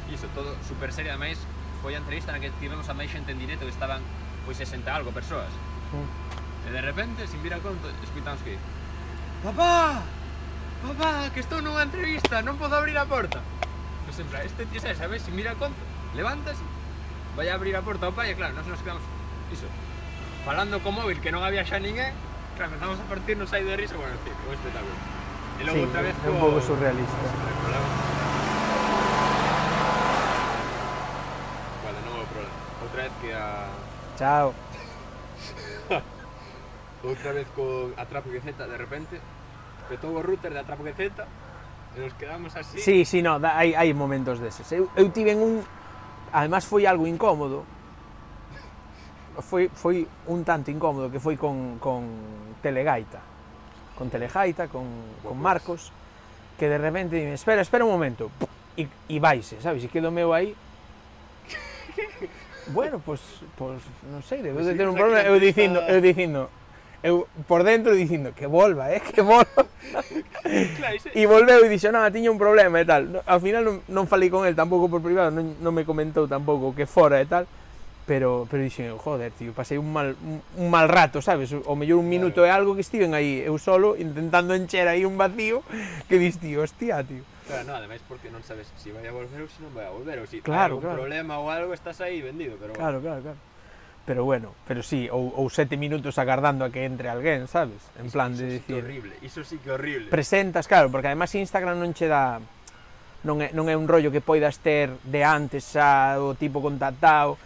iso todo super serio, ademais foi a entrevista na que tivemos a máis xente en directo que estaban pois sesenta algo persoas. Mm. E de repente, sin vir a conto, escuitamos que Papá! Papá, que estou nunha entrevista, non podo abrir a porta. Pois sempre, este tío, sabes, sin vir a conto, levántase, vai a abrir a porta ao pai e claro, nós nos quedamos, iso, falando co móvil que non había xa ninguén. Claro, empezamos a partirnos aí de risa, bueno, en fin, un espectáculo. E logo sí, outra vez é un pouco surrealista. Vale, non houve problema. Outra vez que a... Chao. Outra vez con Atrapo que Z, de repente, petou o router de Atrapo que Z e nos quedamos así. Sí, sí, no, hai, hai momentos deses. Eu, eu tive un... Además foi algo incómodo. Foi, foi un tanto incómodo que foi con, con Telegaita, con Telegaita, con, con Marcos, que de repente dime, espera, espera un momento, e, e vaise, sabes, e quedo meu aí, bueno, pois, pues, pues, non sei, debe de ter un problema, eu dicindo, eu dicindo, eu por dentro dicindo, que volva, eh, que volva, e volveu e dixo, non, tiña un problema e tal, ao final non, non falei con el tampouco por privado, non, non me comentou tampouco que fora e tal, pero pero dixen, joder, tío, pasei un mal un, un mal rato, sabes? O mellor un minuto claro. É algo que estiven aí eu solo intentando encher aí un vacío que dis, tío, hostia, tío. Claro, no, ademais porque non sabes se si vai a volver ou se si non vai a volver ou se si claro, hai un claro. problema ou algo estás aí vendido, pero claro, bueno. claro, claro. Pero bueno, pero sí, ou, ou sete minutos agardando a que entre alguén, sabes? En iso, plan iso de sí decir, que horrible, iso sí que horrible. Presentas, claro, porque además Instagram non che dá non é non é un rollo que poidas ter de antes xa o tipo contactado.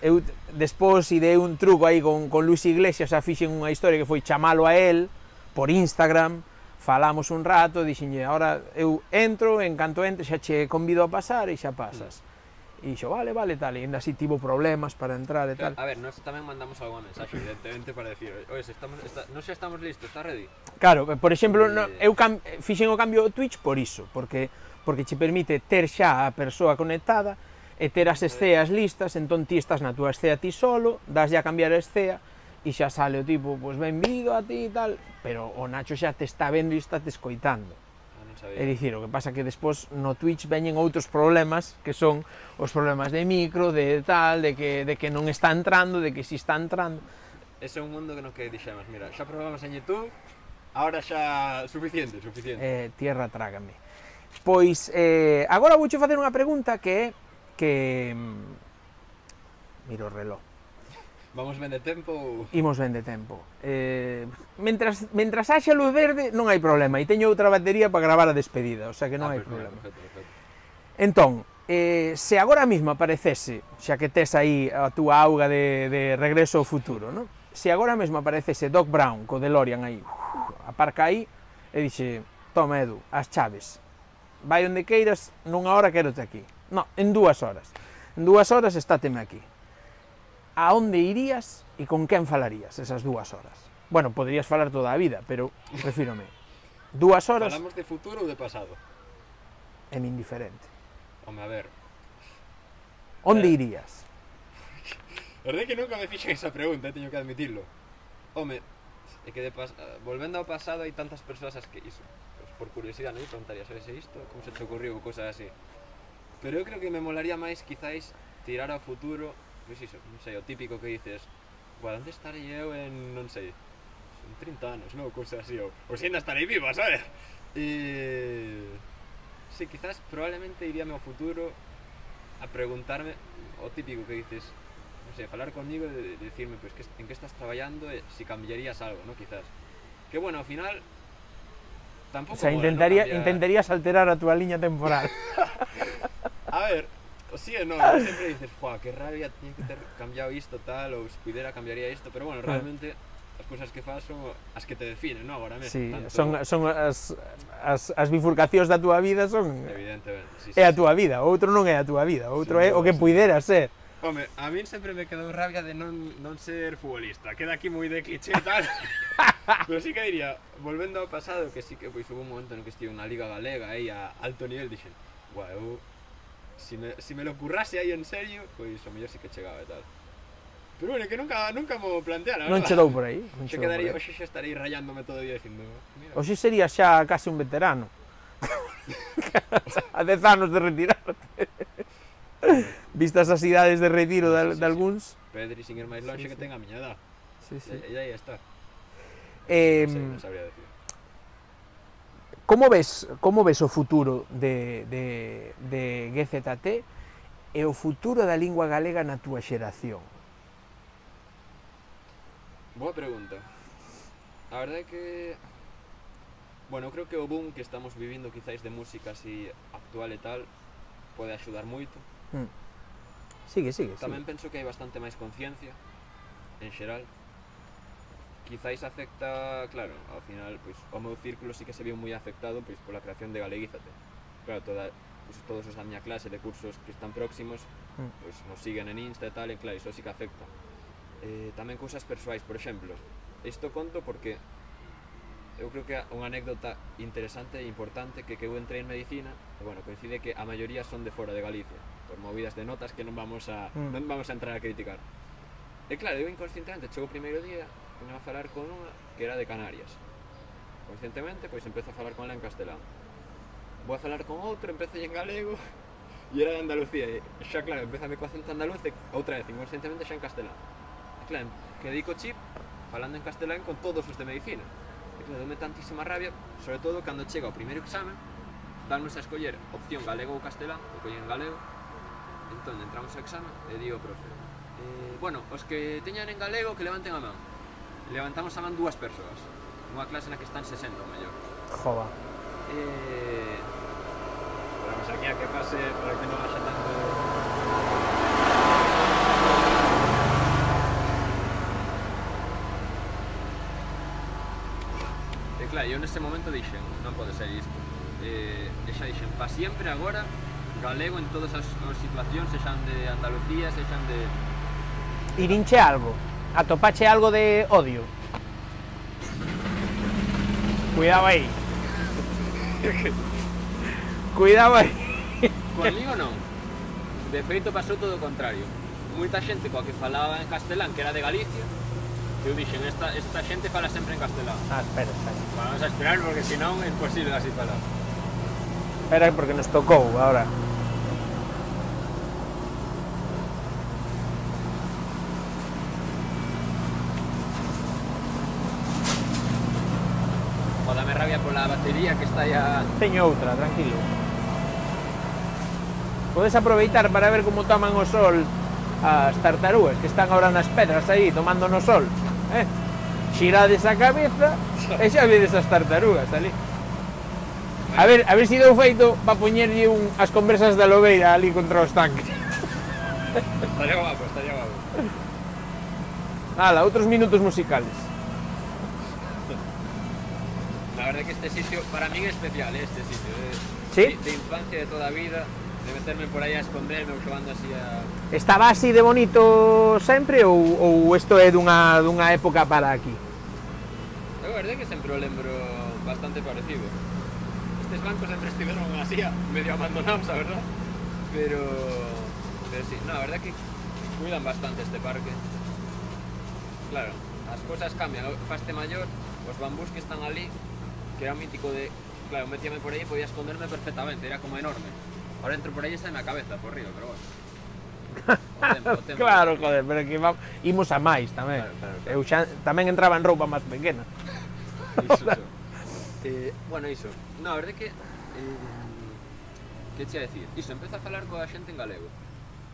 Eu despois idei un truco aí con, con Luis Iglesias, xa fixen unha historia que foi chamalo a él por Instagram, falamos un rato, dixenlle, ahora eu entro, en canto entre xa che convido a pasar e xa pasas. E dixo, vale, vale, tal, e ainda así tivo problemas para entrar e tal. A ver, nós tamén mandamos algunha mensaxe, evidentemente, para decir, oye, estamos, está, non xa estamos listos, está ready? Claro, por exemplo, e... no, eu cam, fixen o cambio do Twitch por iso, porque, porque che permite ter xa a persoa conectada, e ter as esceas listas, entón ti estás na túa escea ti solo, das a cambiar a escea, e xa sale o tipo, pois benvido a ti e tal, pero o Nacho xa te está vendo e está te escoitando. Ah, non sabía. É dicir, o que pasa que despois no Twitch veñen outros problemas, que son os problemas de micro, de tal, de que, de que non está entrando, de que si está entrando. Ese é un mundo que non que dixemos, mira, xa probamos en YouTube, ahora xa suficiente, suficiente. Eh, tierra trágame. Pois, eh, agora vouche facer unha pregunta que é que miro o reloj. Vamos ben de tempo? Imos ben de tempo. Eh, mentras, mentras haxa luz verde non hai problema, e teño outra batería para gravar a despedida, o sea que non ah, hai perfecto, problema. Perfecto, perfecto. Entón, eh, se agora mesmo aparecese, xa que tes aí a túa auga de, de Regreso ao Futuro, ¿no? Se agora mesmo aparecese Doc Brown co DeLorean aí, uf, aparca aí, e dixe, toma Edu, as chaves, vai onde queiras, nunha hora quérote aquí. No, en dúas horas. En dúas horas estáteme aquí. A onde irías e con quen falarías esas dúas horas? Bueno, poderías falar toda a vida, pero refírome. Dúas horas... Falamos de futuro ou de pasado? É indiferente. Home, a ver... Onde eh... irías? A verdade que nunca me fixen esa pregunta, teño que admitirlo. Home, é que de pas... volvendo ao pasado hai tantas persoas as que iso, pues, por curiosidade, non? Preguntaría, sabes isto? Como se te ocurriu? Cosas así. Pero eu creo que me molaría máis, quizáis, tirar ao futuro, pois iso, non sei, o típico que dices, bueno, onde estarei eu en, non sei, en trinta anos, non? Cousas así, ou, ou se ainda estarei viva, sabes? E... Sí, quizás, probablemente iríame ao futuro a preguntarme, o típico que dices, non sei, falar conmigo e de, de decirme, pois, que, en que estás traballando e si cambiarías algo, non? Quizás. Que, bueno, ao final... Tampoco o sea, intentaría, mola, ¿no? intentarías alterar a túa liña temporal. A ver, sí e non, sempre dices, joa, que rabia, tiña que ter cambiado isto tal, ou se pudera cambiaría isto, pero bueno, realmente as cousas que faz son as que te definen, non? Agora mesmo. Sí, tanto... son, son as, as, as bifurcacións da túa vida son... Evidentemente, sí, sí, é a túa sí. vida, o outro non é a túa vida, o outro sí, é o que sí. puidera ser. Home, a min sempre me quedou rabia de non, non ser futbolista, queda aquí moi de cliché e tal. Pero sí que diría, volvendo ao pasado, que sí que pois hubo un momento no que estive na Liga Galega aí a alto nivel, dixen, guau, eu si me, si me lo currase aí en serio, pois o mellor sí que chegaba e tal. Pero bueno, que nunca, nunca mo plantea, la verdad. Non che dou por aí. Non Xe che dou por quedaría, aí. hoxe xa estarei rayándome todo o día dicindo, mira. Hoxe sería xa case un veterano. A dez anos de retirarte. Vistas as idades de retiro de, de algúns. Pedri, sin ir máis longe, Sí, que sí. ten a miña edad. Sí, sí. E aí está. Eh, Non sei, non sabría decir. como ves, como ves o futuro de, de, de G Z T e o futuro da lingua galega na túa xeración? Boa pregunta. A verdade é que... Bueno, creo que o boom que estamos vivindo quizáis de música así actual e tal pode axudar moito. Mm. Sigue, sigue, Tamén sigue. penso que hai bastante máis conciencia en xeral. Quizáis afecta, claro, ao final, pois, o meu círculo sí que se viu moi afectado pois, pola creación de Galeguízate. Claro, toda, pois, todos os da miña clase de cursos que están próximos Mm. pois, nos siguen en Insta e tal, e claro, iso sí que afecta. Eh, tamén cousas persoais, por exemplo, isto conto porque eu creo que é unha anécdota interesante e importante que que eu entrei en medicina e, bueno, coincide que a maioría son de fora de Galicia, por movidas de notas que non vamos a, Mm. non vamos a entrar a criticar. E claro, eu inconscientemente chego o primeiro día, poño a falar con unha que era de Canarias. Conscientemente, pois empezo a falar con ela en castelán. Vou a falar con outro, empezo en galego e era de Andalucía, e xa claro, empezame co acento andaluz e outra vez, inconscientemente xa en castelán. E claro, quedei co chip falando en castelán con todos os de medicina. E claro, dome tantísima rabia, sobre todo cando chega o primeiro examen, darnos a escoller opción galego ou castelán, o collín en galego. Entón, entramos ao examen e digo ao profe, eh, bueno, os que teñan en galego que levanten a man. E levantamos a man dúas persoas, unha clase na que están sesenta ou mellor. Jova. Eh, esperamos aquí a que pase para que non haxa tanto... E claro, eu nese momento dixen, non pode ser isto. Eh, e xa dixen, pa sempre agora, galego en todas as, as situacións, sexan de Andalucía, sexan de... Irinche algo? Atopache algo de odio? Cuidado aí. Cuidado aí. Conmigo non. De feito pasou todo o contrario. Moita xente coa que falaba en castelán, que era de Galicia, eu dixen, esta, esta xente fala sempre en castelán. Ah, espera, espera. Vamos a esperar porque senón é imposible así falar. Espera porque nos tocou ahora. O dame rabia pola batería que está aí a... Teño outra, tranquilo. Podes aproveitar para ver como toman o sol as tartarugas que están ahora nas pedras aí tomando no sol, eh? Xirades a cabeza e xa vedes as tartarugas ali. A ver, a ver se deu feito para poñerlle un, as conversas da lobeira ali contra os tanques. Estaría guapo, estaría guapo. Ala, outros minutos musicales. La verdad que este sitio, para mí es especial, este sitio. De, ¿Sí? De, de infancia, de toda a vida, de meterme por aí a esconderme ou xogando así a... Estaba así de bonito sempre ou, ou isto é dunha, dunha época para aquí? A verdade que sempre o lembro bastante parecido. Estes bancos sempre estiveron así, medio abandonados, a verdad. Pero... Pero sí, no, a verdade que cuidan bastante este parque. Claro, as cousas cambian, faste maior, os bambús que están ali, que era un mítico de... Claro, metíame por aí e podía esconderme perfectamente, era como enorme. Ahora entro por aí e está na cabeza, por río, pero bueno. O tempo, o tempo. Claro, joder, pero que vamos, imos a máis tamén. Claro, claro, claro. Eu xa tamén entraba en roupa máis pequena. Iso, iso. Eh, bueno, iso. No, a verdade que... Eh, que che a decir? Iso, empeza a falar coa xente en galego.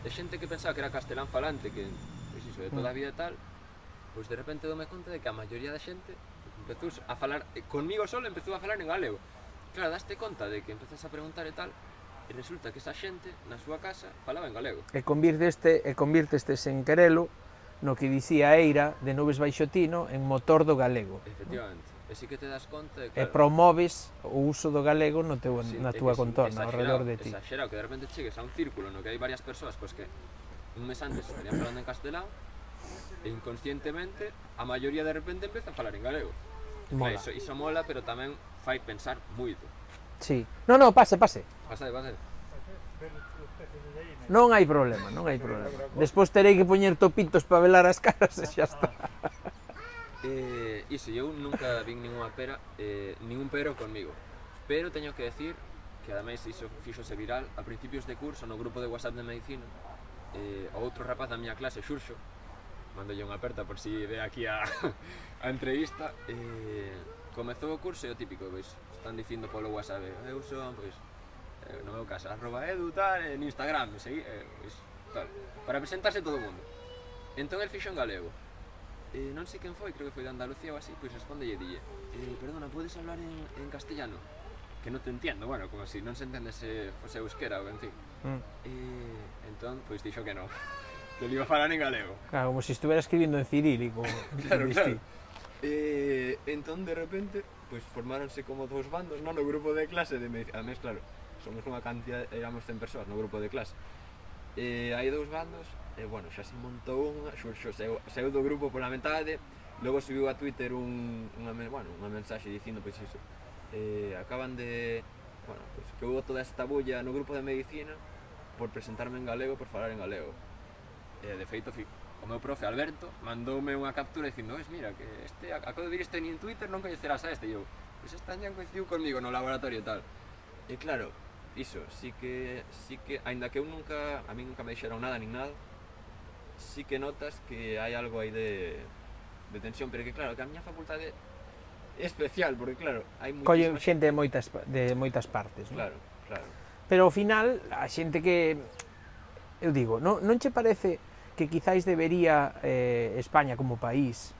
E xente que pensaba que era castelán falante, que, pois iso, de toda a vida e tal, pois de repente dome conta de que a maioría da xente empezou a falar, conmigo solo empezou a falar en galego. Claro, daste conta de que empezas a preguntar e tal, e resulta que esa xente, na súa casa, falaba en galego. E convirteste, e convirtestes en querelo no que dicía Eira de Nubes baixo Tino en motor do galego. Efectivamente. E si que te das conta de, E claro, promoves o uso do galego no teu, sí, na é túa que sí, contorna, ao exagerado, redor de ti. Exagerado, que de repente chegues a un círculo no que hai varias persoas pois que un mes antes estarían falando en castelán e inconscientemente a maioría de repente empeza a falar en galego. Mola. Iso, iso mola, pero tamén fai pensar moito. Sí. No, no, pase, pase. Pasade, pasade. Non hai problema, non hai problema. Despois terei que poñer topitos para velar as caras e xa está. Eh, iso, eu nunca vin ninguna pera, eh, ningún pero conmigo. Pero teño que decir que ademais iso fixose viral a principios de curso no grupo de WhatsApp de medicina. Eh, o outro rapaz da miña clase, Xurxo, mandolle unha aperta por si ve aquí a, a entrevista. Eh, comezou o curso e o típico, pois, están dicindo polo WhatsApp, eu son, pois, eh, no meu caso, arroba edu, tal, en Instagram, segui, eh, pois, tal, para presentarse todo o mundo. Entón el fixo en galego. Eh, non sei quen foi, creo que foi de Andalucía ou así, pois responde e dille, eh, perdona, podes hablar en, en castellano? Que non te entiendo, bueno, como si non se entende se fose euskera ou en fin. Mm. Eh, entón, pois dixo que non, que li iba a falar en galego. Claro, como se si estuviera escribindo en cirílico. Claro, claro. Eh, entón, de repente, pois formáronse como dous bandos, non, no grupo de clase de medicina. Además, claro, somos unha cantidad, éramos cen persoas no grupo de clase. Eh, hai dous bandos, e, bueno, xa se montou unha, xurxo, seu, seu do grupo pola metade, logo subiu a Twitter un, unha, bueno, unha mensaxe dicindo, pois iso, eh, acaban de, bueno, pois que hubo toda esta bulla no grupo de medicina por presentarme en galego, por falar en galego. Eh, de feito, o meu profe Alberto mandoume unha captura dicindo, "Ves, mira, que este, acabo de vir este en Twitter, non coñecerás a este", e eu, pois esta ñan coincidiu comigo no laboratorio e tal. E claro, iso, sí que, sí que, aínda que eu nunca, a mí nunca me dixeron nada nin nada, sí que notas que hai algo aí de, de tensión, pero que claro, que a miña facultade é especial, porque claro, hai moitísima xente de moitas, de moitas partes, non? Claro, claro. Pero ao final, a xente que, eu digo, non, non che parece que quizáis debería eh, España como país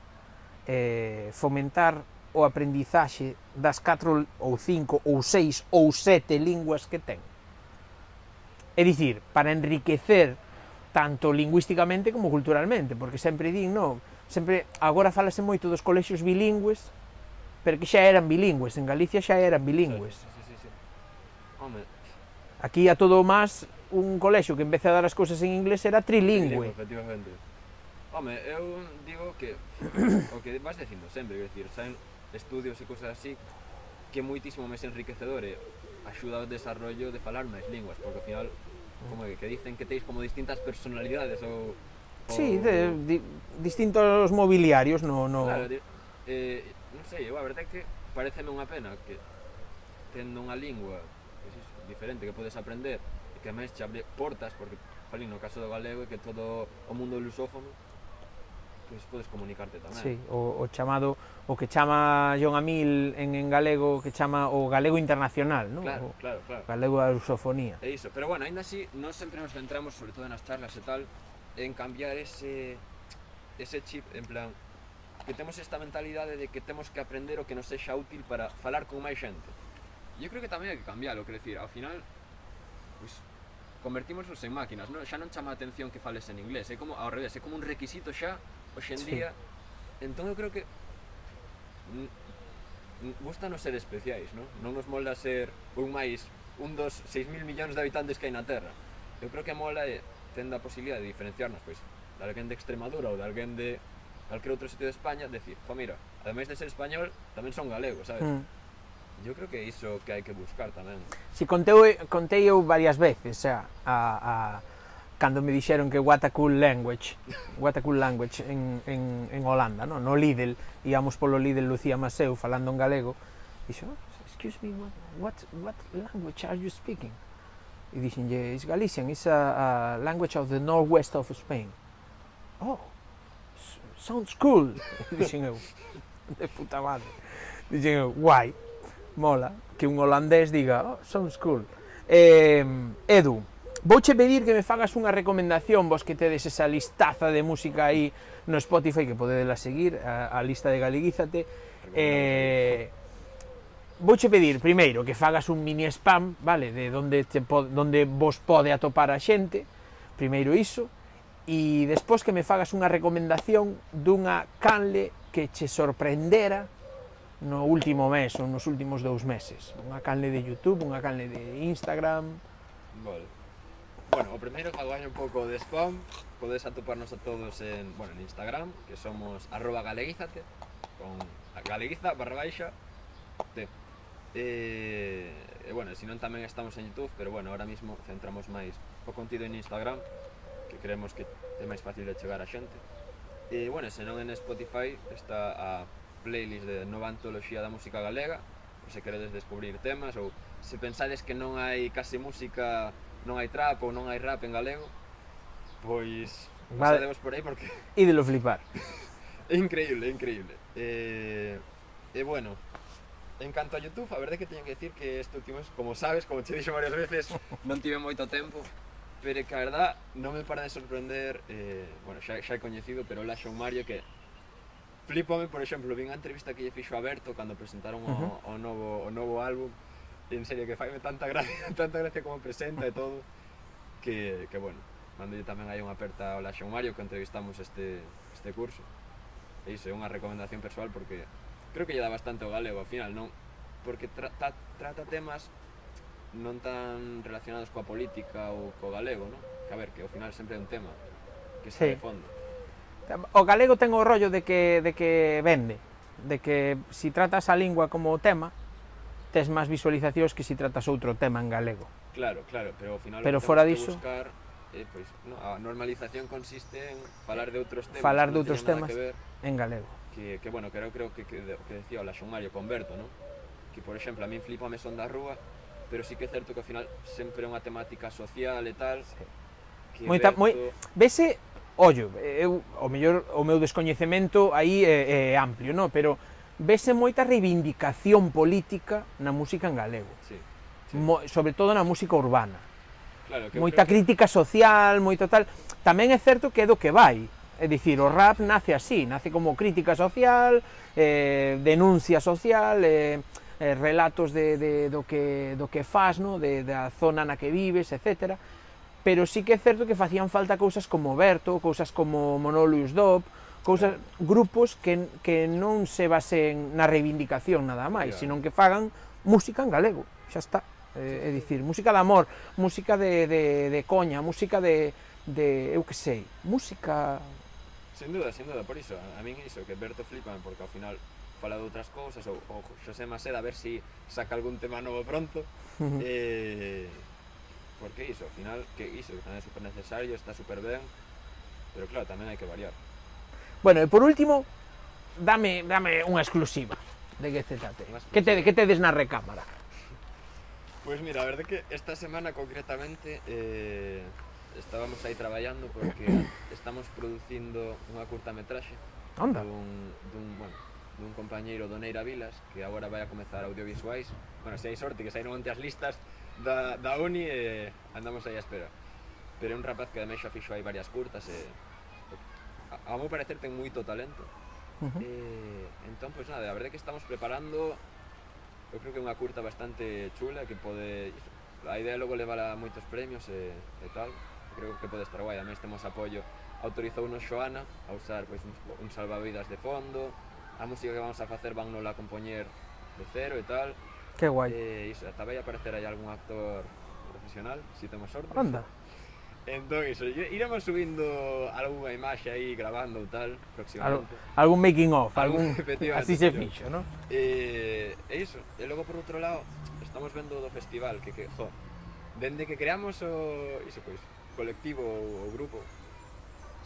eh, fomentar o aprendizaxe das catro ou cinco ou seis ou sete linguas que ten? É dicir, para enriquecer tanto lingüísticamente como culturalmente, porque sempre din, non, sempre, agora falase moito dos colexios bilingües, pero que xa eran bilingües, en Galicia xa eran bilingües. Sí, sí, sí, sí. Home. Aquí a todo o máis, un colexio que empece a dar as cousas en inglés era trilingüe. Efectivamente. Home, eu digo que o que vas dicindo sempre, quer dicir, saen estudios e cousas así que moitísimo máis enriquecedor e axuda ao desarrollo de falar máis linguas, porque ao final como que, que dicen que teis como distintas personalidades ou... ou... Sí, de, di, distintos mobiliarios no... no... Claro, de, eh, non sei, eu a verdade é que pareceme unha pena que tendo unha lingua pues, iso, diferente que podes aprender e que máis che abre portas, porque, jolín, no caso do galego é que todo o mundo lusófono pois podes comunicarte tamén. Sí, o, o chamado, o que chama John Amil en, en galego, que chama o galego internacional, non? Claro, o claro, claro. Galego da lusofonía. É iso, pero bueno, ainda así, nós sempre nos centramos, sobre todo nas charlas e tal, en cambiar ese, ese chip, en plan, que temos esta mentalidade de que temos que aprender o que nos sexa útil para falar con máis xente. E eu creo que tamén hai que cambiarlo, quero dicir, ao final, pois, convertímonos en máquinas, non? Xa non chama a atención que fales en inglés, é como, ao revés, é como un requisito xa, hoxe en día, sí. Entón eu creo que gustanos ser especiais, non? Non nos mola ser un máis, un dos seis mil millóns de habitantes que hai na Terra. Eu creo que mola é tendo a posibilidade de diferenciarnos, pois, de alguén de Extremadura ou de alguén de calquer outro sitio de España, decir, jo, mira, ademais de ser español, tamén son galego, sabes? Mm. Eu creo que é iso que hai que buscar tamén. Si, contei, contei eu varias veces, xa, a, a cando me dixeron que what a cool language, what a cool language en, en, en Holanda, no? No Lidl, íamos polo Lidl Lucía Maseu falando en galego, dixo, excuse me, what, what, what language are you speaking? E dixen, it's Galician, it's a, a language of the northwest of Spain. Oh, sounds cool, dixen eu, de puta madre, dixen eu, guai, mola, que un holandés diga, oh, sounds cool. Eh, Edu, vouche pedir que me fagas unha recomendación, vos que tedes esa listaza de música aí no Spotify, que podedela seguir, a, a lista de Galeguízate. Eh, vouche pedir, primeiro, que fagas un mini spam, vale, de donde, te pod, donde vos pode atopar a xente, primeiro iso, e despois que me fagas unha recomendación dunha canle que che sorprendera no último mes ou nos últimos dous meses. Unha canle de YouTube, unha canle de Instagram. Vale. Bueno, o primeiro fago un pouco de spam. Podes atoparnos a todos en, bueno, en Instagram, que somos arroba galeguízate, con galeguiza barra baixa te. E, e bueno, se non tamén estamos en YouTube, pero bueno, ahora mismo centramos máis o contido en Instagram, que creemos que é máis fácil de chegar a xente. E, bueno, se non en Spotify está a playlist de Nova Antoloxía da Música Galega, por se queredes descubrir temas, ou se pensades que non hai case música, non hai trap ou non hai rap en galego, pois pasadevos por aí porque... E de lo flipar. É increíble, é increíble. E, e bueno, en canto a YouTube, a verdade que teño que decir que este último, como sabes, como te dixo varias veces, non tive moito tempo, pero que a verdad non me para de sorprender, eh, bueno, xa, xa é coñecido, pero la Xon Mario, que flipame, por exemplo, vi unha entrevista que lle fixo a Berto cando presentaron o, Uh-huh. o, novo, o novo álbum, e en serio que faime tanta gracia, tanta gracia como presenta e todo, que, que bueno, mandolle tamén hai unha aperta ao la Xon Mario que entrevistamos este, este curso. E iso é unha recomendación persoal porque creo que lle dá bastante ao galego ao final, non? Porque tra, ta, trata temas non tan relacionados coa política ou co galego, non? Que a ver, que ao final sempre é un tema que está Sí. de fondo. O galego ten o rollo de que, de que vende, de que si tratas a lingua como tema, tes máis visualizacións que si tratas outro tema en galego. Claro, claro, pero ao final Pero o que fora temos diso, que buscar eh, pois, no, a normalización consiste en falar de outros temas, falar que de non outros teñen nada temas que ver, en galego. que, que bueno, creo, creo que, que, que decía o la Xon Mario con Berto, non? Que, por exemplo, a min flipame Son da Rúa, pero sí que é certo que ao final sempre é unha temática social e tal, Sí. que Moita, Berto... moi, vese, ollo, eu, o mellor, o meu descoñecemento aí é, é amplio, no? Pero vese moita reivindicación política na música en galego, Sí, sí. Mo, sobre todo na música urbana. Claro, que eu Moita creo crítica social, moito tal. Tamén é certo que é do que vai. É dicir, o rap nace así, nace como crítica social, eh, denuncia social, eh, eh, relatos de, de, do, que, do que fas, no? de, da zona na que vives, etcétera. Pero sí que é certo que facían falta cousas como Berto, cousas como Monolius Dop, cousas, grupos que, que non se basen na reivindicación nada máis, Claro. sino que fagan música en galego, xa está. Eh, é dicir, música de amor, música de, de, de coña, música de, de, eu que sei, música... Sin duda, sin duda, por iso, a, a min iso, que Berto flipan, porque ao final fala de outras cousas, ou, ou Xosé Maceda a ver si saca algún tema novo pronto, eh, porque iso, ao final, que iso, que tamén é super necesario, está super ben, pero claro, tamén hai que variar. Bueno, e por último, dame, dame unha exclusiva de que te tate. Unha Que te, que tedes na recámara? Pois mira, a verdade que esta semana concretamente eh, estábamos aí traballando porque estamos producindo unha curtametraxe Onda. dun, dun, bueno, dun compañeiro do Neira Vilas que agora vai a comezar audiovisuais. Bueno, se hai sorte que saíron onte as listas da, da uni e andamos aí a espera. Pero é un rapaz que ademais xa fixo aí varias curtas e a, a meu parecer ten moito talento. Uh -huh. E entón, pois nada, a verdade que estamos preparando, eu creo que é unha curta bastante chula que pode, a idea logo levar a moitos premios e, e tal, creo que pode estar guai. Ademais temos apoio, autorizounos Xoana a usar pois, un, un salvavidas de fondo, a música que vamos a facer van nola a compoñer de cero e tal. Que guai. E iso, ata vai aparecer aí algún actor profesional, se si temos sorte. Anda. Entón, iso, iremos subindo algunha imaxe aí, grabando ou tal, Al, próximamente. algún making of, Algún- algún... efectivamente, Así se pero- fixo, ¿no? E, e iso, e logo por outro lado, estamos vendo do festival, que, que jo, dende que creamos o, iso, pois, colectivo ou o grupo,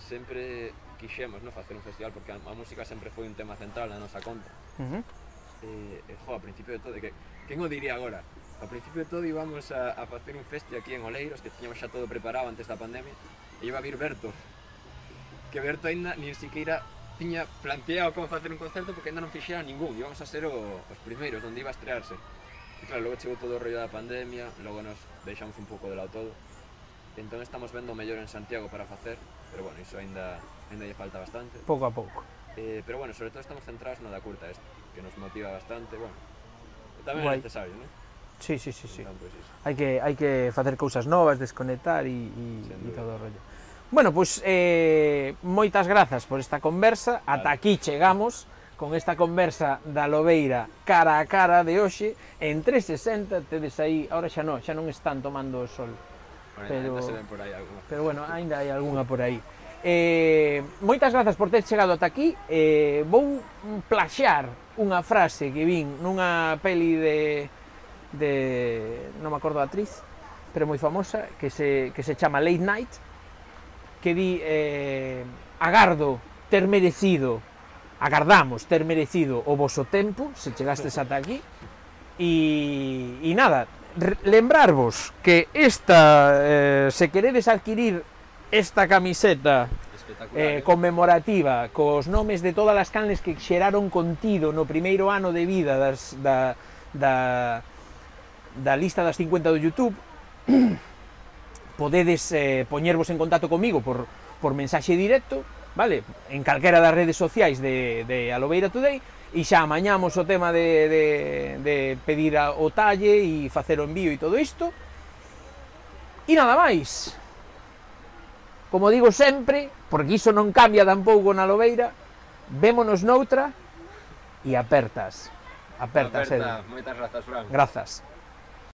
sempre quixemos, no, facer un festival, porque a, a música sempre foi un tema central na nosa conta. Uh -huh. E, e jo, a principio de todo, que, quen o diría agora? A principio de todo íbamos a, a facer un festi aquí en Oleiros, que tiñamos xa todo preparado antes da pandemia, e iba a vir Berto, que Berto ainda nin siquiera tiña planteado como facer un concerto porque ainda non fixera ningún, íbamos a ser o, os primeiros, onde iba a estrearse. E claro, logo chegou todo o rollo da pandemia, logo nos deixamos un pouco de lado todo, entón estamos vendo o mellor en Santiago para facer, pero bueno, iso ainda, ainda lle falta bastante. Pouco a pouco. Eh, pero bueno, sobre todo estamos centrados no da curta esta, que nos motiva bastante, bueno, e tamén Guai. é necesario, non? Sí, sí, sí, sí. Entón, pois iso. Hai que, hai que facer cousas novas, desconectar e, e, Sen e dúbida. todo o rollo. Bueno, pois, pues, eh, moitas grazas por esta conversa. Vale. Ata aquí chegamos con esta conversa da Lobeira cara a cara de hoxe. En trescientos sesenta tedes aí, ahora xa non, xa non están tomando o sol. Bueno, Pero- ainda se ven por aí alguna. Pero bueno, aínda hai algunha por aí. Eh, moitas grazas por ter chegado ata aquí. Eh, vou plaxear unha frase que vin nunha peli de... de non me acordo a actriz, pero moi famosa, que se, que se chama Late Night, que di, eh, agardo ter merecido, agardamos ter merecido o voso tempo, se chegastes ata aquí, e, e nada, lembrarvos que esta, eh, se queredes adquirir esta camiseta eh, conmemorativa cos nomes de todas as canles que xeraron contido no primeiro ano de vida das, da, da, da lista das cincuenta do YouTube, podedes eh, poñervos en contacto comigo por, por mensaxe directo, vale? En calquera das redes sociais de, de Alobeira Today, e xa amañamos o tema de, de, de pedir a, o talle e facer o envío e todo isto. E nada máis. Como digo sempre, porque iso non cambia tampouco na Alobeira, vémonos noutra e apertas. Apertas, Aperta, moitas grazas, Fran. Grazas.